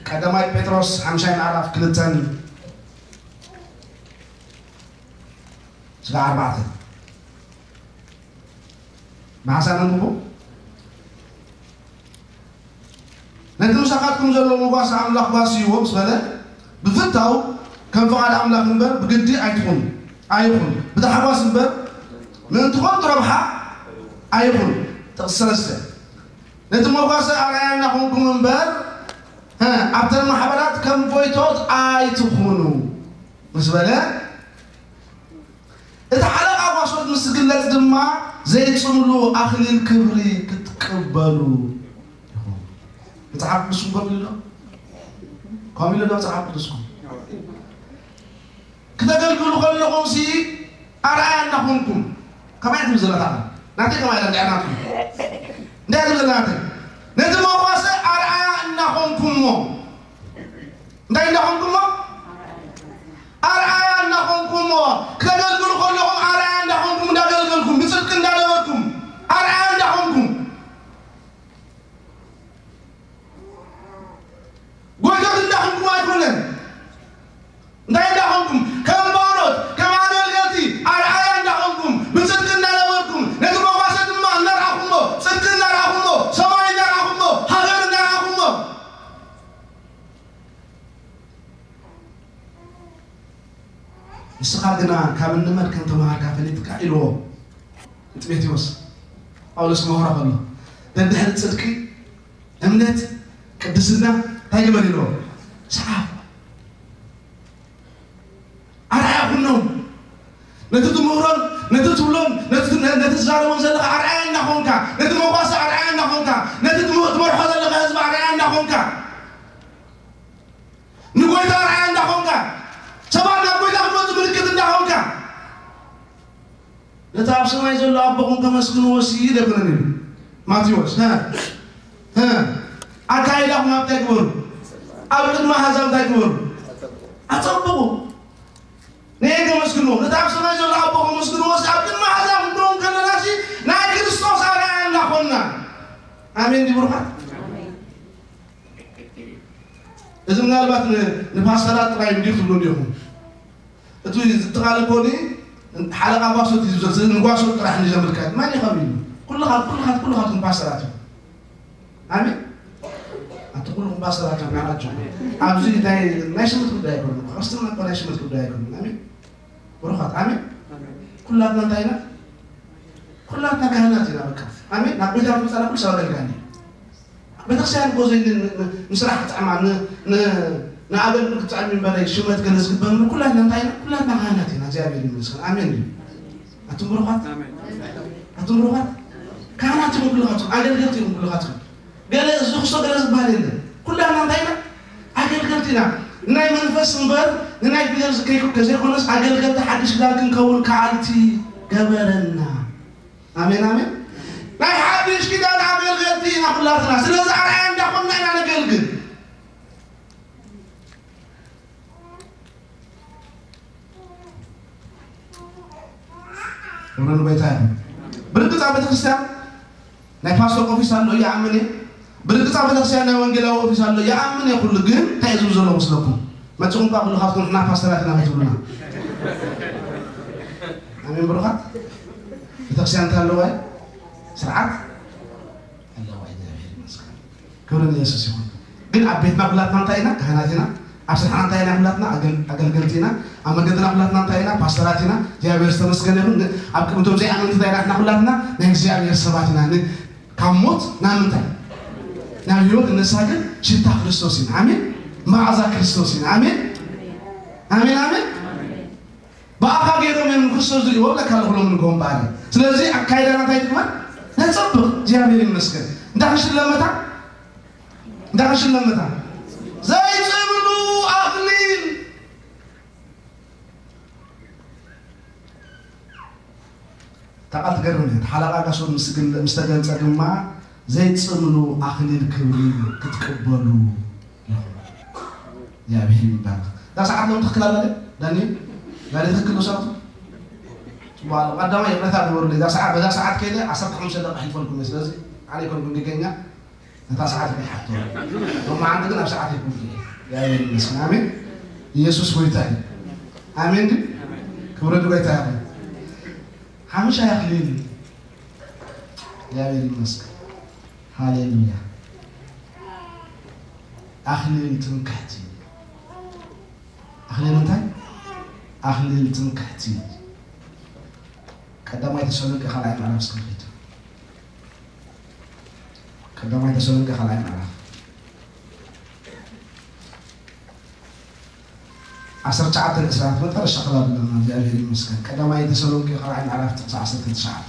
ቀዳማይ ጴጥሮስ ሓምሻይ ምዕራፍ ክልተን ስጋ ኣርባዕተ። ብሓሳብ ነንብቦ። ነቲ ምሳኻትኩም ዘሎ መጓሰ ኣምላኽ ጓስይዎ ምስ በለ፣ ብፍታው ከም ፍቓድ ኣምላኽ እምበር ብግዲ ኣይትኹን፣ ኣይኹን። ብታሕጓስ እምበር ምእንቲ ኸንቱ ረብሓ ኣይኹን። ጥቕሲ ሰለስተ። ነቲ መጓሰ ኣርኣያ እናኾንኩም እምበር፣ ሀ፣ ኣብተን ማሕበራት ከም ጎይቶት ኣይትኹኑ ምስ በለ፣ እቲ ሓለቓ ጓሶት ምስ ዝግለጽ ድማ ዘይጽምሉ ኣኽሊል ክብሪ ክትቅበሉ ኢኹም። መጽሓፍ ቅዱስኩም ከምኡ ኢሉ ዶ? ከምኡ ኢሉ ዶ መጽሓፍ ቅዱስኩም? ክተገልግሉ ከለኹም ሲ ኣርኣያ እናኾንኩም፣ ከማይ ትብል ዘላ እታ ቃል። ናተይ ከማይ ኢላ እንድያ ናትኩም። እንታይ ትብል ዘላ ናተይ? ነቲ መጓሰ ኣርኣያ እናኾንኩሞ። እንታይ እናኾንኩሞ? ኣርኣያ እናኾንኩሞ። ክተገልግሉ ከለኹም ኣርኣያ እናኾንኩም እንዳገልገልኩም፣ ብጽድቂ እንዳነበርኩም፣ ኣርኣያ እንዳኾንኩም። ጎይቶት እንዳኾንኩም ኣይኮነን። እንታይ እንዳኾንኩም? ከም ባሮት፣ ከም ኣገልገልቲ ኣርኣያ እንዳኾንኩም፣ ብጽድቂ እንዳነበርኩም፣ ነቲ መጓሰ ድማ እናርኣኹሞ፣ ጽድቂ እናርኣኹሞ፣ ሰማይ እናርኣኹሞ፣ ሃገር እናርኣኹሞ። ንስኻ ግና ካብ እንመን ከም ተመሃርካ ፈሊጥካ ኢልዎ ንጢሞቴዎስ ጳውሎስ ክመኽሮ ከሎ፣ ደድሕሪ ጽድቂ፣ እምነት፣ ቅድስና እንታይ ግበር ኢልዎ? ሰዓብ። ኣርኣያ ኩኖም። ነቲ ትምህሮን፣ ነቲ ትብሎን፣ ነቲ፣ ነቲ ትዛረቦን ዘለኻ ኣርኣያ እናኾንካ፣ ነቲ መጓሰ ኣርኣያ እናኾንካ፣ ነቲ ትም-፣ ትመርሖ ዘለኻ ህዝቢ ኣርኣያ እናኾንካ፣ ንጎይታ ኣርኣያ እንዳኾንካ፣ ሰባት ናብ ጎይታ ክመጹ ምልክት እንዳኾንካ፣ ነቲ ኣብ ሰማይ ዘሎ ኣቦኹም ከመስግንዎ ሲ ደብረን ኢሉ ማቴዎስ። ሀ፣ ሀ፣ ኣካይዳኹም ኣብታይ ግበሩ። ኣብ ቅድሚ ኣሕዛብ እንታይ ግበሩ? ኣጸብቑ። ነየን ከመስግንዎ? ነቲ ኣብ ሰማይ ዘሎ ኣቦ ከመስግንዎ? ኣብ ቅድሚ ኣሕዛብ ክንከውን ከለና ሲ ናይ ክርስቶስ ኣርኣያ እንዳኾንና። ኣሜን ድዩ ብሩኻት? እዚ ምናልባት ን-፣ ንፓስተራት ጥራይ እንዲዩ ትብሉ እንዲኹም። እቲ ዝጥቓለ ኮኒ ሓለቓ ጓሶት እዩ ዝብል፣ ንጓሶት ጥራሕ እንዲዩ ዘመልክት። መን እዩ ከቢሉ? ኩልኻ-፣ ኩልኻት-፣ ኩልኻትኩም ፓስተራት እዩ። ኣሜን። ኣቲ ኩልኹም ፓስተራት እዮም ናቸው። ኣብዚ ናይ፣ ናይ ሽመት ጉዳይ ኣይኮነን። ክርስትና እኮ ናይ ሽመት ጉዳይ ኣይኮነን። ኣሜን። ብሩኻት፣ ኣሜን። ኩላትና እንታይ ኢና? ኩላትና ካህናት ኢና በቃ። ኣሜን። ናብ ቤት ኣምጻና ኩሉ ሰብ ኣገልጋሊ። ቤተክርስትያን እኮ ዘይ ን-፣ ን-፣ ንስራሕ ክትጥዕማ፣ ን-፣ ን-፣ ንኣገልግሎት ክትጥዕሚ እምበረይ ሽመት ገለ ዝግበር ኩላትና እንታይ ኢና? ኩላትና ካህናት ኢና። እግዚኣብሔር ይመስገን። ኣሜን ድዩ? ኣቱም ብሩኻት? ኣሜን። ኣቱም ብሩኻት? ካህናት ኢኹም ኩልኻትኩም፣ ኣገልገልቲ ኢኹም ኩልኻትኩም። ገለ ዝኽሶ ገለ ዝበሃል የለን። ኩላትና እንታይ ኢና? ኣገልገልቲ ኢና። ናይ መንፈስ እምበር ንናይ ፊደል ዝከይኩ ከዘይኮነስ ኣገልገልቲ ሓድሽ ኪዳን ክንከውን ከኣልቲ ገበረና። ኣሜን፣ ኣሜን። ናይ ሓድሽ ኪዳን ኣገልገልቲ ኢና ኩላትና። ስለዚ ኣርኣያ እንዳኾንና ኢና ነገልግል። ክብሪ ንጎይታ ይኹን። ብርግጽ ኣብ ቤተክርስትያን ናይ ፓስተር ኦፊስ ኣሎ ይኣምን እየ። ብርግጽ ኣብ ቤተክርስትያን ናይ ወንጌላዊ ኦፊስ ኣሎ ይኣምን እየ። ኩሉ ግን እንታይ እዩ ዝብል ዘሎ መስለኩም? መጽኹም እኳ ኩልኻትኩም ንሕና ፓስተራት ኢና ክትብሉና። ኣሜን ብሩኻት። ቤተክርስትያን እንታይ ኣለዋ? ስርዓት ኣለዋ። እግዚኣብሔር ይመስገን። ክብሪ ንየሱስ ይኹን። ግን ኣብ ቤትና ኩላትና እንታይ ኢና? ካህናት ኢና። ኣብ ስራሕና እንታይ ኢና? ኩላትና ኣገል-፣ ኣገልገልቲ ኢና። ኣብ መገድና ኩላትና እንታይ ኢና? ፓስተራት ኢና። እግዚኣብሔር ዝተመስገነ ይኹን። ን-፣ ኣብ ቅድሚ እቶም ዘይኣመንቲ እንታይ ኢና? ንሕና ኩላትና ናይ እግዚኣብሔር ሰባት ኢና። ን-፣ ካብ ሞት ናብ ምንታይ? ናብ ህይወት እነሳግር ሽታ ክርስቶስ ኢና። ኣሜን። መዓዛ ክርስቶስ ኢና። ኣሜን። ኣሜን፣ ኣሜን። ብኣኻ ገይሮም እዮም ንክርስቶስ ዝርእይዎ ብለካ ኣለኹ ሎም ንግሆም በዓል። ስለዚ ኣካይዳና እንታይ ትግበር? ነጸብቕ። እግዚኣብሔር ይመስገን። እንዳ ክንሽለመታ፣ እንዳ ክንሽለመታ። ዘይጽምሉ ኣኽሊል። እታ ቃል ትገርም እያ። እቲ ሓለቓ ጋሶን ምስ ግል-፣ ምስ ተገልጸ ድማ ዘይጽምሉ ኣኽሊል ክብሪ ክትቅበሉ ኢኹም። እግዚኣብሔር ይባረክ። እዛ ሰዓት ሎም ትኽክል ኣላ ድያ? ዳኒ? ዳኒ ትኽክል ዶ ሰዓቱ? ጽቡቕ ኣሎ። ቀዳማይ ይቕረታ ግበሩለይ። እዛ ሰዓት፣ በዛ ሰዓት ከይደ ዓሰርተ ሓሙሽተ ደቂቕ ኣሕሊፈልኩም እየ። ስለዚ ኣነ ኣይኮንኩን ጌገኛ። ነታ ሰዓት እየ ሓቶ። ሎማዓንቲ ግን ኣብ ሰዓት ኣይኮንኩን እየ። እግዚኣብሔር ይመስገን። ኣሜን። ኢየሱስ ጎይታ እዩ። ኣሜን ድዩ? ክብሪ ንጎይታ ይኹን። ሓሙሻይ ኣኽሊል። እግዚኣብሔር ይመስገን። ሃሌሉያ። ኣኽሊል ትምክሕቲ። ኣኽሊል እንታይ? ኣኽሊል ትምክሕቲ። ቀዳማይ ተሰሎንቄ ካልኣይ ምዕራፍ እስከ ንኺድ። ቀዳማይ ተሰሎንቄ ካልኣይ ምዕራፍ ዓሰርተ ትሽዓተ እስራት መጠረሻ ክላብ ኣለና። እግዚኣብሔር ይመስገን። ቀዳማይ ተሰሎንቄ ካልኣይ ምዕራፍ ጥቕሲ ዓሰርተ ትሽዓተ።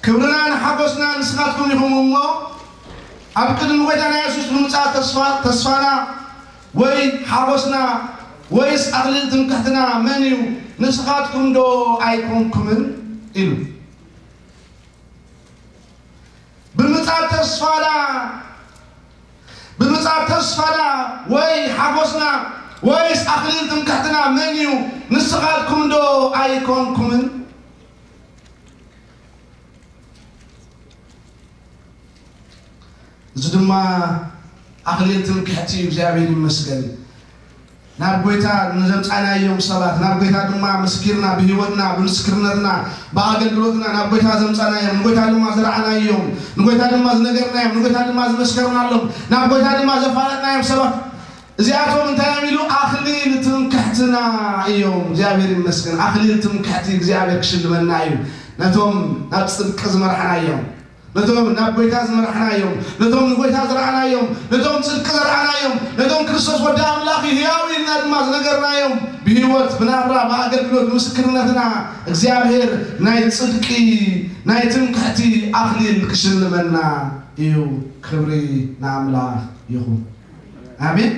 ክብርና ንሓጎስና ንስኻትኩም ኢኹም እሞ፣ ኣብ ቅድሚ ጎይታና የሱስ ብምጻእ ተስፋ-፣ ተስፋና ወይ ሓጎስና ወይስ ኣኽሊል ትምክሕትና መን እዩ? ንስኻትኩም ዶ ኣይኮንኩምን? ኢሉ። ብምጻእ ተስፋና፣ ብምጻእ ተስፋና ወይ ሓጎስና ወይስ ኣኽሊል ትምክሕትና መን እዩ? ንስኻትኩም ዶ ኣይኮንኩምን? እዚ ድማ ኣኽሊል ትምክሕቲ እዩ። እግዚኣብሔር ይመስገን። ናብ ጎይታ ንዘምጻናዮም ሰባት፣ ናብ ጎይታ ድማ መስኪርና፣ ብህይወትና፣ ብምስክርነትና፣ ብኣገልግሎትና ናብ ጎይታ ዘምጻናዮም፣ ንጎይታ ድማ ዝረኣናዮም፣ ንጎይታ ድማ ዝነገርናዮም፣ ንጎይታ ድማ ዝመስከርናሎም፣ ናብ ጎይታ ድማ ዘፋለጥናዮም ሰባት፣ እዚኣቶም እንታይ እዮም ኢሉ? ኣኽሊል ትምክሕትና እዮም። እግዚኣብሔር ይመስገን። ኣኽሊል ትምክሕቲ እግዚኣብሔር ክሽልመና እዩ። ነቶም ናብ ጽድቂ ዝመርሓናዮም፣ ነቶም ናብ ጎይታ ዝመርሓናዮም፣ ነቶም ንጎይታ ዝረኣናዮም፣ ነቶም ጽድቂ ዘርኣናዮም፣ ነቶም ክርስቶስ ወዲ ኣምላኽ እዩ ህያው ኢልና ድማ ዝነገርናዮም፣ ብህይወት፣ ብናብራ፣ ብኣገልግሎት፣ ምስክርነትና እግዚኣብሔር ናይ ጽድቂ፣ ናይ ትምክሕቲ ኣኽሊል ክሽልመና እዩ። ክብሪ ንኣምላኽ ይኹን። ኣሜን።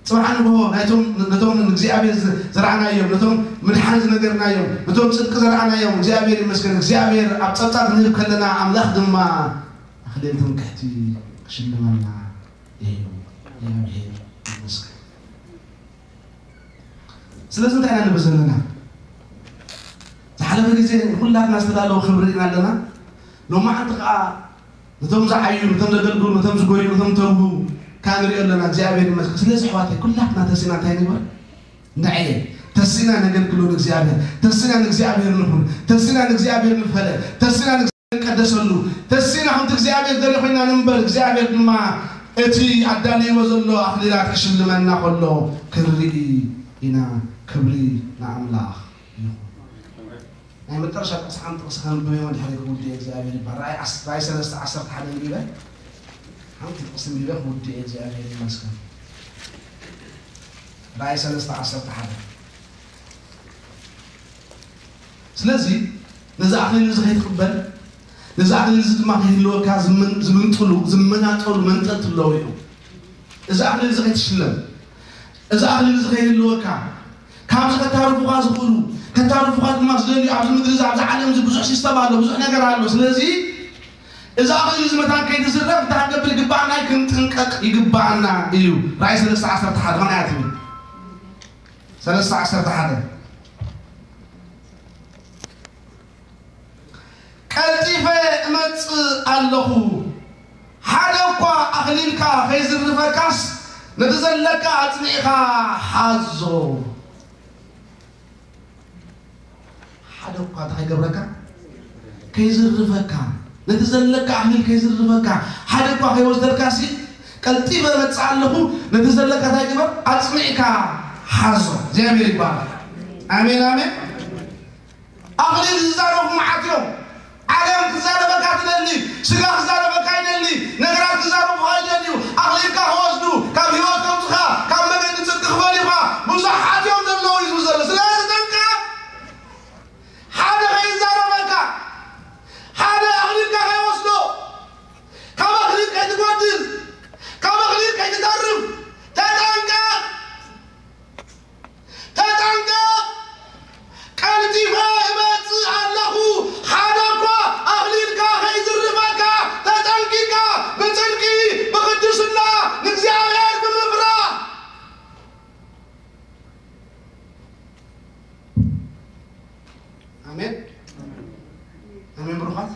ጽባሕ ንግሆ ናይቶም ነቶም ንእግዚኣብሔር ዘ- ዘርኣናዮም፣ ነቶም ምድሓን ዝነገርናዮም፣ ነቶም ጽድቂ ዘርኣናዮም እግዚኣብሔር ይመስገን። እግዚኣብሔር ኣብ ጸብጻብ ክንህብ ከለና ኣምላኽ ድማ ኣኽሊል ትምክሕቲ ክሽልመና እዩ። እግዚኣብሔር ይመስገን። ስለዚ እንታይ ኢና ንብል ዘለና? ዝሓለፈ ግዜ ንኩላትና ዝተዳለወ ክብሪ ርኢና ኣለና። ሎማዓንቲ ከዓ ነቶም ዝዓዩ፣ ነቶም ዘገልግሉ፣ ነቶም ዝጎዩ፣ ነቶም ተርሁ ከዓ ንሪኦ ኣለና። እግዚኣብሔር ይመስገን። ስለዚ ኣሕዋተይ ኩላትና ተሲና እንታይ ንግበር? ንዐየ ተሲና ነገልግሎ ንእግዚኣብሔር፣ ተሲና ንእግዚኣብሔር ንኹን፣ ተሲና ንእግዚኣብሔር ንፈለ፣ ተሲና ንእግዚኣብሔር ንቀደሰሉ፣ ተሲና ከምቲ እግዚኣብሔር ደልዮ ኮይና ንንበር። እግዚኣብሔር ድማ እቲ ኣዳልይዎ ዘሎ ኣኽሊላት ክሽልመና ከሎ ክንርኢ ኢና። ክብሪ ንኣምላኽ ይኹን። ናይ መጨረሻ ጥቕሲ ሓንቲ ጥቕሲ ከንብብ እየ፣ ድሕሪ ክውድእ እግዚኣብሔር ይባል። ራእይ ዓስ- ራእይ ሰለስተ ዓሰርተ ሓደ ንቢበ ሓንቲ ጥቕሲ ንቢበ ክውድእ እየ። እግዚኣብሔር ይመስገን። ራእይ ሰለስተ ዓሰርተ ሓደ። ስለዚ ነዚ ኣኽሊል እዚ ከይትቕበል፣ ነዚ ኣኽሊል እዚ ድማ ከይህልወካ ዝምን- ዝምንጥሉ ዝመናጠሉ መንጠልቲ ኣለዉ እዮም። እዚ ኣኽሊል እዚ ከይትሽለም፣ እዚ ኣኽሊል እዚ ከይህልወካ፣ ካብዚ ከታርፉኻ ዝኽእሉ፣ ከታርፉኻ ድማ ዝደልዩ ኣብዚ ምድሪ እዚ ኣብዚ ዓለም እዚ ብዙሕ ሲስተም ኣሎ፣ ብዙሕ ነገር ኣሎ። ስለዚ እዚ ኣኽሊል እዚ መታን ከይትዝረፍ እንታይ ክንገብር ይግባኣና? ክንጥንቀቕ ይግባኣና እዩ። ራእይ ሰለስተ ዓሰርተ ሓደ ኸምኣ እያ ትብል። ሰለስተ ዓሰርተ ሓደ ቀልጢፈ እመጽእ ኣለኹ፣ ሓደ እኳ ኣኽሊልካ ከይዝርፈካስ ነቲ ዘለካ ኣጽኒዕካ ሓዞ። ሓደ እኳ እንታይ ከይገብረካ? ከይዝርፈካ፣ ነቲ ዘለካ ኣኽሊል ከይዝርፈካ፣ ሓደ እኳ ከይወስደልካሲ ቀልጢፈ እመጽእ ኣለኹ፣ ነቲ ዘለካ እንታይ ግበር? ኣጽኒዕካ ሓዞ። እግዚኣብሔር ይባረክ። ኣሜን ኣሜን። ኣኽሊል ዝዛረቡ መዓት እዮም። ዓለም ክዛረበካ ትደሊ፣ ስጋ ክዛረበካ ይደሊ፣ ነገራት ክዛረቡኻ ይደልዩ። ኣኽሊልካ ክወስዱ፣ ካብ ህይወት ከውፅኻ፣ ካብ መገዲ ጽድቂ ክፈልዩኻ ብዙሓት እዮም ዘለዉ እዩ ዝብል ዘሎ። ስለዚ ተጠንቀቕ። ሓደ ከይዛረበካ፣ ሓደ ኣኽሊልካ ከይወስዶ፣ ካብ ኣኽሊል ከይትጎድል፣ ካብ ኣኽሊል ከይትተርፍ ተጠንቀቕ። ተጠንቀቕ! ቀልጢፈ እመጽእ ኣለኹ፣ ሓደ እኳ ኣኽሊልካ ከይዝርፈካ ተጠንቂቕካ ብጽድቂ ብቕድስና ንእግዚኣብሔር ብምፍራህ። ኣሜን ኣሜን ብሩኻት።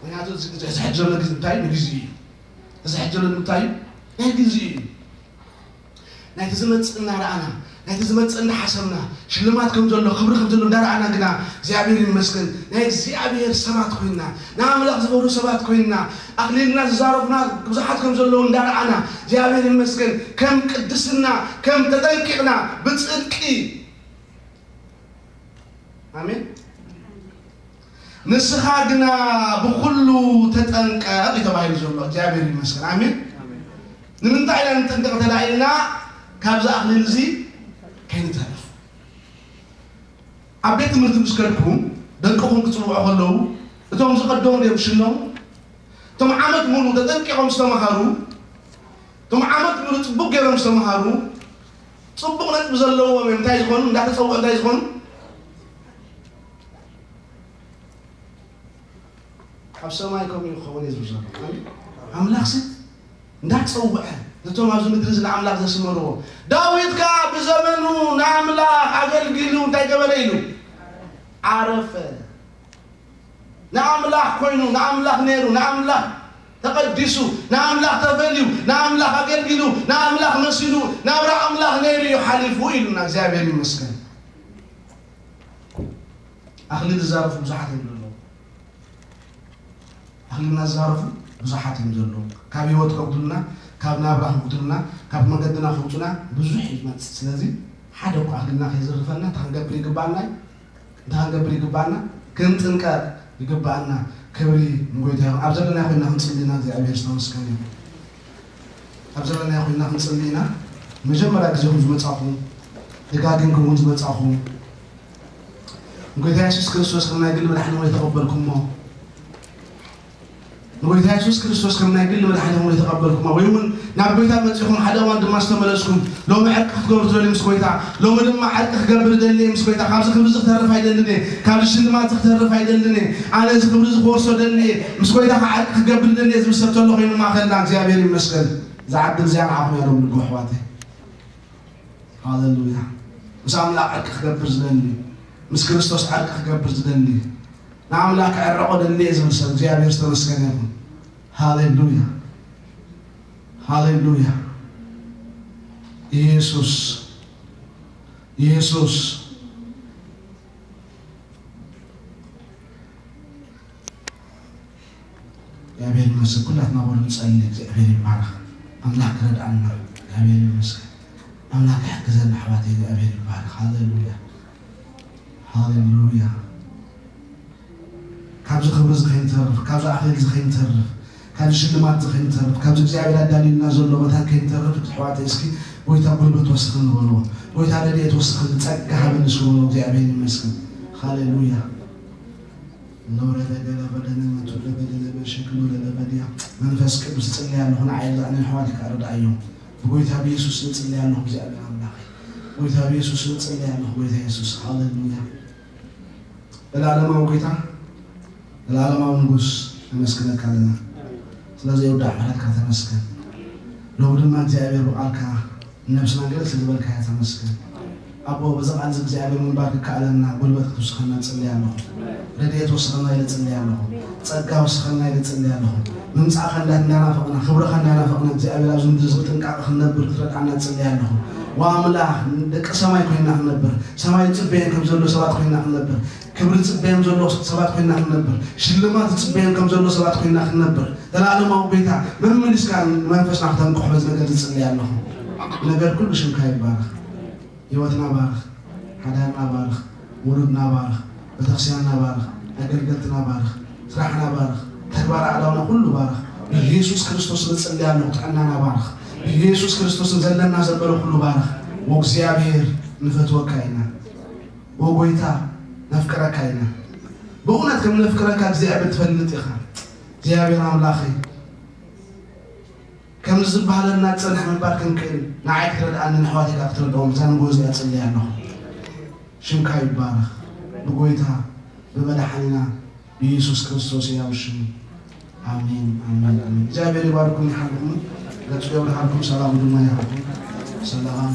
ምክንያቱ እዚ እዚ ሕጂ ዘሎ ግዜ እንታይ እዩ? ንግዜ እዩ። እዚ ሕጂ ዘሎ እንታይ እዩ? ናይ ግዜ እዩ። ናይቲ ዝመጽእ እናረኣና፣ ናይቲ ዝመጽእ እናሓሰብና፣ ሽልማት ከም ዘሎ፣ ክብሪ ከም ዘሎ እንዳረኣና ግና እግዚኣብሔር ይመስገን ናይ እግዚኣብሔር ሰባት ኮይንና፣ ንኣምላኽ ዝፈርሁ ሰባት ኮይንና፣ ኣኽሊልና ዝዛረፉና ብዙሓት ከም ዘለዉ እንዳረኣና እግዚኣብሔር ይመስገን ከም ቅድስና ከም ተጠንቂቕና ብጽድቂ ኣሜን። ንስኻ ግና ብኹሉ ተጠንቀቕ እዩ ተባሂሉ ዘሎ። እግዚኣብሔር ይመስገን። ኣሜን። ንምንታይ ኢና ንጠንቀቕ እንተ ኢልና ካብዚ ኣኽሊል እዚ ከይንተርፍ። ኣብ ቤት ትምህርቲ ምስ ከድኩም ደቅኹም ክጽውዑ ከለዉ እቶም ዝቐደሙ ድዮም ዝሽለሙ? እቶም ዓመት ሙሉ ተጠንቂቖም ዝተምሃሩ፣ እቶም ዓመት ሙሉ ጽቡቕ ገይሮም ዝተምሃሩ፣ ጽቡቕ ነጥቢ ዘለዎም እዮም። እንታይ ዝኾኑ? እንዳተጸውዑ እንታይ ዝኾኑ? ኣብ ሰማይ ከምኡ እዩ ክኸውን እዩ ዝብል ዘሎ። ኣሜን። ኣምላኽሲ እንዳጸውዐ ነቶም ኣብዚ ምድሪ እዚ ንኣምላኽ ዘስመርዎ። ዳዊት ከኣ ብዘመኑ ንኣምላኽ ኣገልጊሉ እንታይ ገበረ ኢሉ? ዓረፈ። ንኣምላኽ ኮይኑ፣ ንኣምላኽ ነይሩ፣ ንኣምላኽ ተቐዲሱ፣ ንኣምላኽ ተፈልዩ፣ ንኣምላኽ ኣገልጊሉ፣ ንኣምላኽ መሲሉ፣ ናብራ ኣምላኽ ነይሩ እዩ ሓሊፉ ኢሉና። እግዚኣብሔር ይመስገን። ኣኽሊል ዝዛረፉ ብዙሓት እዮም ዘለዉ። ኣኽሊልና ዝዛረፉ ብዙሓት እዮም ዘለዉ። ካብ ህይወት ከጉድሉና፣ ካብ ናብራ ከጉድሉና፣ ካብ መገድና ከውፁና ብዙሕ እዩ ዝመፅእ። ስለዚ ሓደ እኳ ኣኽሊልና ከይዝርፈና እንታይ ክንገብር ይግባኣና እዩ? እንታይ ክንገብር ይግባኣና? ክንጥንቀቕ ይግባኣና። ክብሪ ንጎይታ ይኹን። ኣብ ዘለና ኮይና ክንጽሊ ኢና። እግዚኣብሔር ዝተመስገነ ይኹን። ኣብ ዘለና ኮይና ክንጽሊ ኢና። መጀመርያ ግዜኹም ዝመጻኹም፣ ደጋጊምኩም እውን ዝመጻኹም፣ ንጎይታ የሱስ ክርስቶስ ከም ናይ ግሊ መድሓኒ ወይ ተቐበልኩሞ፣ ጎይታ የሱስ ክርስቶስ ከም ናይ ግሊ መድሓኒኹም ዘይተቐበልኩሞ፣ ወይ እውን ናብ ጎይታ መጺኹም ሓደ እዋን ድማ ዝተመለስኩም፣ ሎሚ ዕርቂ ክትገብሩ ትደልዩ ምስ ጎይታ፣ ሎሚ ድማ ዕርቂ ክገብር እደሊ እየ ምስ ጎይታ፣ ካብዚ ክብሪ እዚ ክተርፍ ኣይደልን እየ፣ ካብዚ ሽልማት እዚ ክተርፍ ኣይደልን እየ፣ ኣነ እዚ ክብሪ እዚ ክወርሶ እደሊ እየ፣ ምስ ጎይታ ከዓ ዕርቂ ክገብር እደሊ እየ ዝብል ሰብ ተሎ ኮይኑ ማእኸልና እግዚኣብሔር ይመስገን። እዛ ዕድል እዚኣ ንዓኹም እያ ሎሚ ንግሆ ኣሕዋተይ። ሃሌሉያ። ምስ ኣምላኽ ዕርቂ ክገብር ዝደሊ፣ ምስ ክርስቶስ ዕርቂ ክገብር ዝደሊ፣ ንኣምላኽ ክዕረቆ ደሊ እየ ዝብል ሰብ እግዚኣብሔር ዝተመስገነ ይኹን። ሃሌሉያ፣ ሃሌሉያ። ኢየሱስ፣ ኢየሱስ። እግዚኣብሔር ይመስገን። ኩላትና በሉ ንጸሊ። እግዚኣብሔር ይባረኽ። ኣምላኽ ክረድኣና። እግዚኣብሔር ይመስገን። ኣምላኽ ይሕግዘና ኣሕዋተይ። እግዚኣብሔር ይባረኽ። ሃሌሉያ፣ ሃሌሉያ። ካብዚ ክብሪ እዚ ከይንተርፍ፣ ካብዚ ኣኽሊል እዚ ከይንተርፍ፣ ካብዚ ሽልማት እዚ ከይንተርፍ፣ ካብዚ እግዚኣብሔር ኣዳልዩልና ዘሎ መታን ከይንተርፍ፣ ኣሕዋተይ እስኪ ጎይታ ጉልበት ወስኽኒ በልዎ። ጎይታ ረድኤት ወስኽኒ፣ ጸጋ ሃበኒ እስኪ በልዎ። እግዚኣብሔር ይመስገን። ሃሌሉያ። ሎረደ ገለ በደነ መቱ ለበደነ በሸክሉ ለለበድያ። መንፈስ ቅዱስ እጽልይ ኣለኹ፣ ንዓይ ርድኣኒ፣ ኣሕዋተይ ከኣ ርድኣዮም። ብጎይታ ብየሱስ እጽልይ ኣለኹ፣ እግዚኣብሔር ኣምላኸይ። ጎይታ ብየሱስ እጽልይ ኣለኹ፣ ጎይታ የሱስ። ሃሌሉያ። ዘላለማዊ ጎይታ፣ ዘላለማዊ ንጉስ፣ ነመስግነካ ኣለና። ስለዚ የውዳእ ምሕረትካ ተመስገን። ሎሚ ድማ እግዚኣብሔር ብቃልካ ነብስና ገለ ስለ ዝበልካያ ተመስገን። ኣቦ፣ በዚ ቃል እዚ እግዚኣብሔር ምንባር ክከኣለና ጉልበት ክትውስኸና እጽሊ ኣለኹ። ረድኤት ወስኸና ኢለ እጽሊ ኣለኹ። ጸጋ ወስኸና ኢለ እጽሊ ኣለኹ። ምምጻእኻ እንዳ-፣ እንዳናፈቕና፣ ክብርኻ እንዳናፈቕና እግዚኣብሔር ኣብዚ ምድሪ እዚ ብጥንቃቐ ክንነብር ክትረድኣና እጽሊ ኣለኹ። ወኣምላኽ ደቂ ሰማይ ኮይና ክንነብር፣ ሰማይ ዝጽበየን ከም ዘሎ ሰባት ኮይና ክንነብር፣ ክብሪ ዝጽበየን ዘሎ ሰባት ኮይና ክንነብር፣ ሽልማት ዝጽበየን ከም ዘሎ ሰባት ኮይና ክንነብር፣ ዘላለማዊ ጎይታ መመሊስካ ንመንፈስና ክተንቅሖ በዚ ነገር ዝጽሊ ኣለኹ። ነገር ኩሉ ሽምካ ይባረኽ። ህይወትና ባርኽ፣ ሓዳርና ባርኽ፣ ውሉድና ባርኽ፣ ቤተክርስትያንና ባርኽ፣ ኣገልገልትና ባርኽ፣ ስራሕና ባርኽ፣ ተግባር ኣእዳውና ኩሉ ባርኽ። ብኢየሱስ ክርስቶስ ንጽሊ ኣለኹ፣ ጥዕናና ባርኽ። ብኢየሱስ ክርስቶስ ዘለና ዘበለ ኩሉ ባርኽ። ወእግዚኣብሔር ንፈትወካ ኢና። ወጎይታ ነፍቅረካ ኢና። ብእውነት ከም ነፍቅረካ እግዚኣብሔር ትፈልጥ ኢኻ። እግዚኣብሔር ኣምላኸይ፣ ከምዚ ዝበሃለልና ዝጸንሐ ምንባር ክንክእል ንዓይ ክትረድኣኒ ንኣሕዋተይ ከኣ ክትረድኦም እዛ ንግሆ እዚኣ እጽሊ ኣለኹ። ሽምካ ይባረኽ። ብጎይታ ብመድሓኒና ብኢየሱስ ክርስቶስ ሕያው ሽም። ኣሜን፣ ኣሜን፣ ኣሜን። እግዚኣብሔር ይባርኩም፣ ይሓልኩም፣ ገጹ የብርሃልኩም፣ ሰላሙ ድማ ይሃብኩም። ሰላም።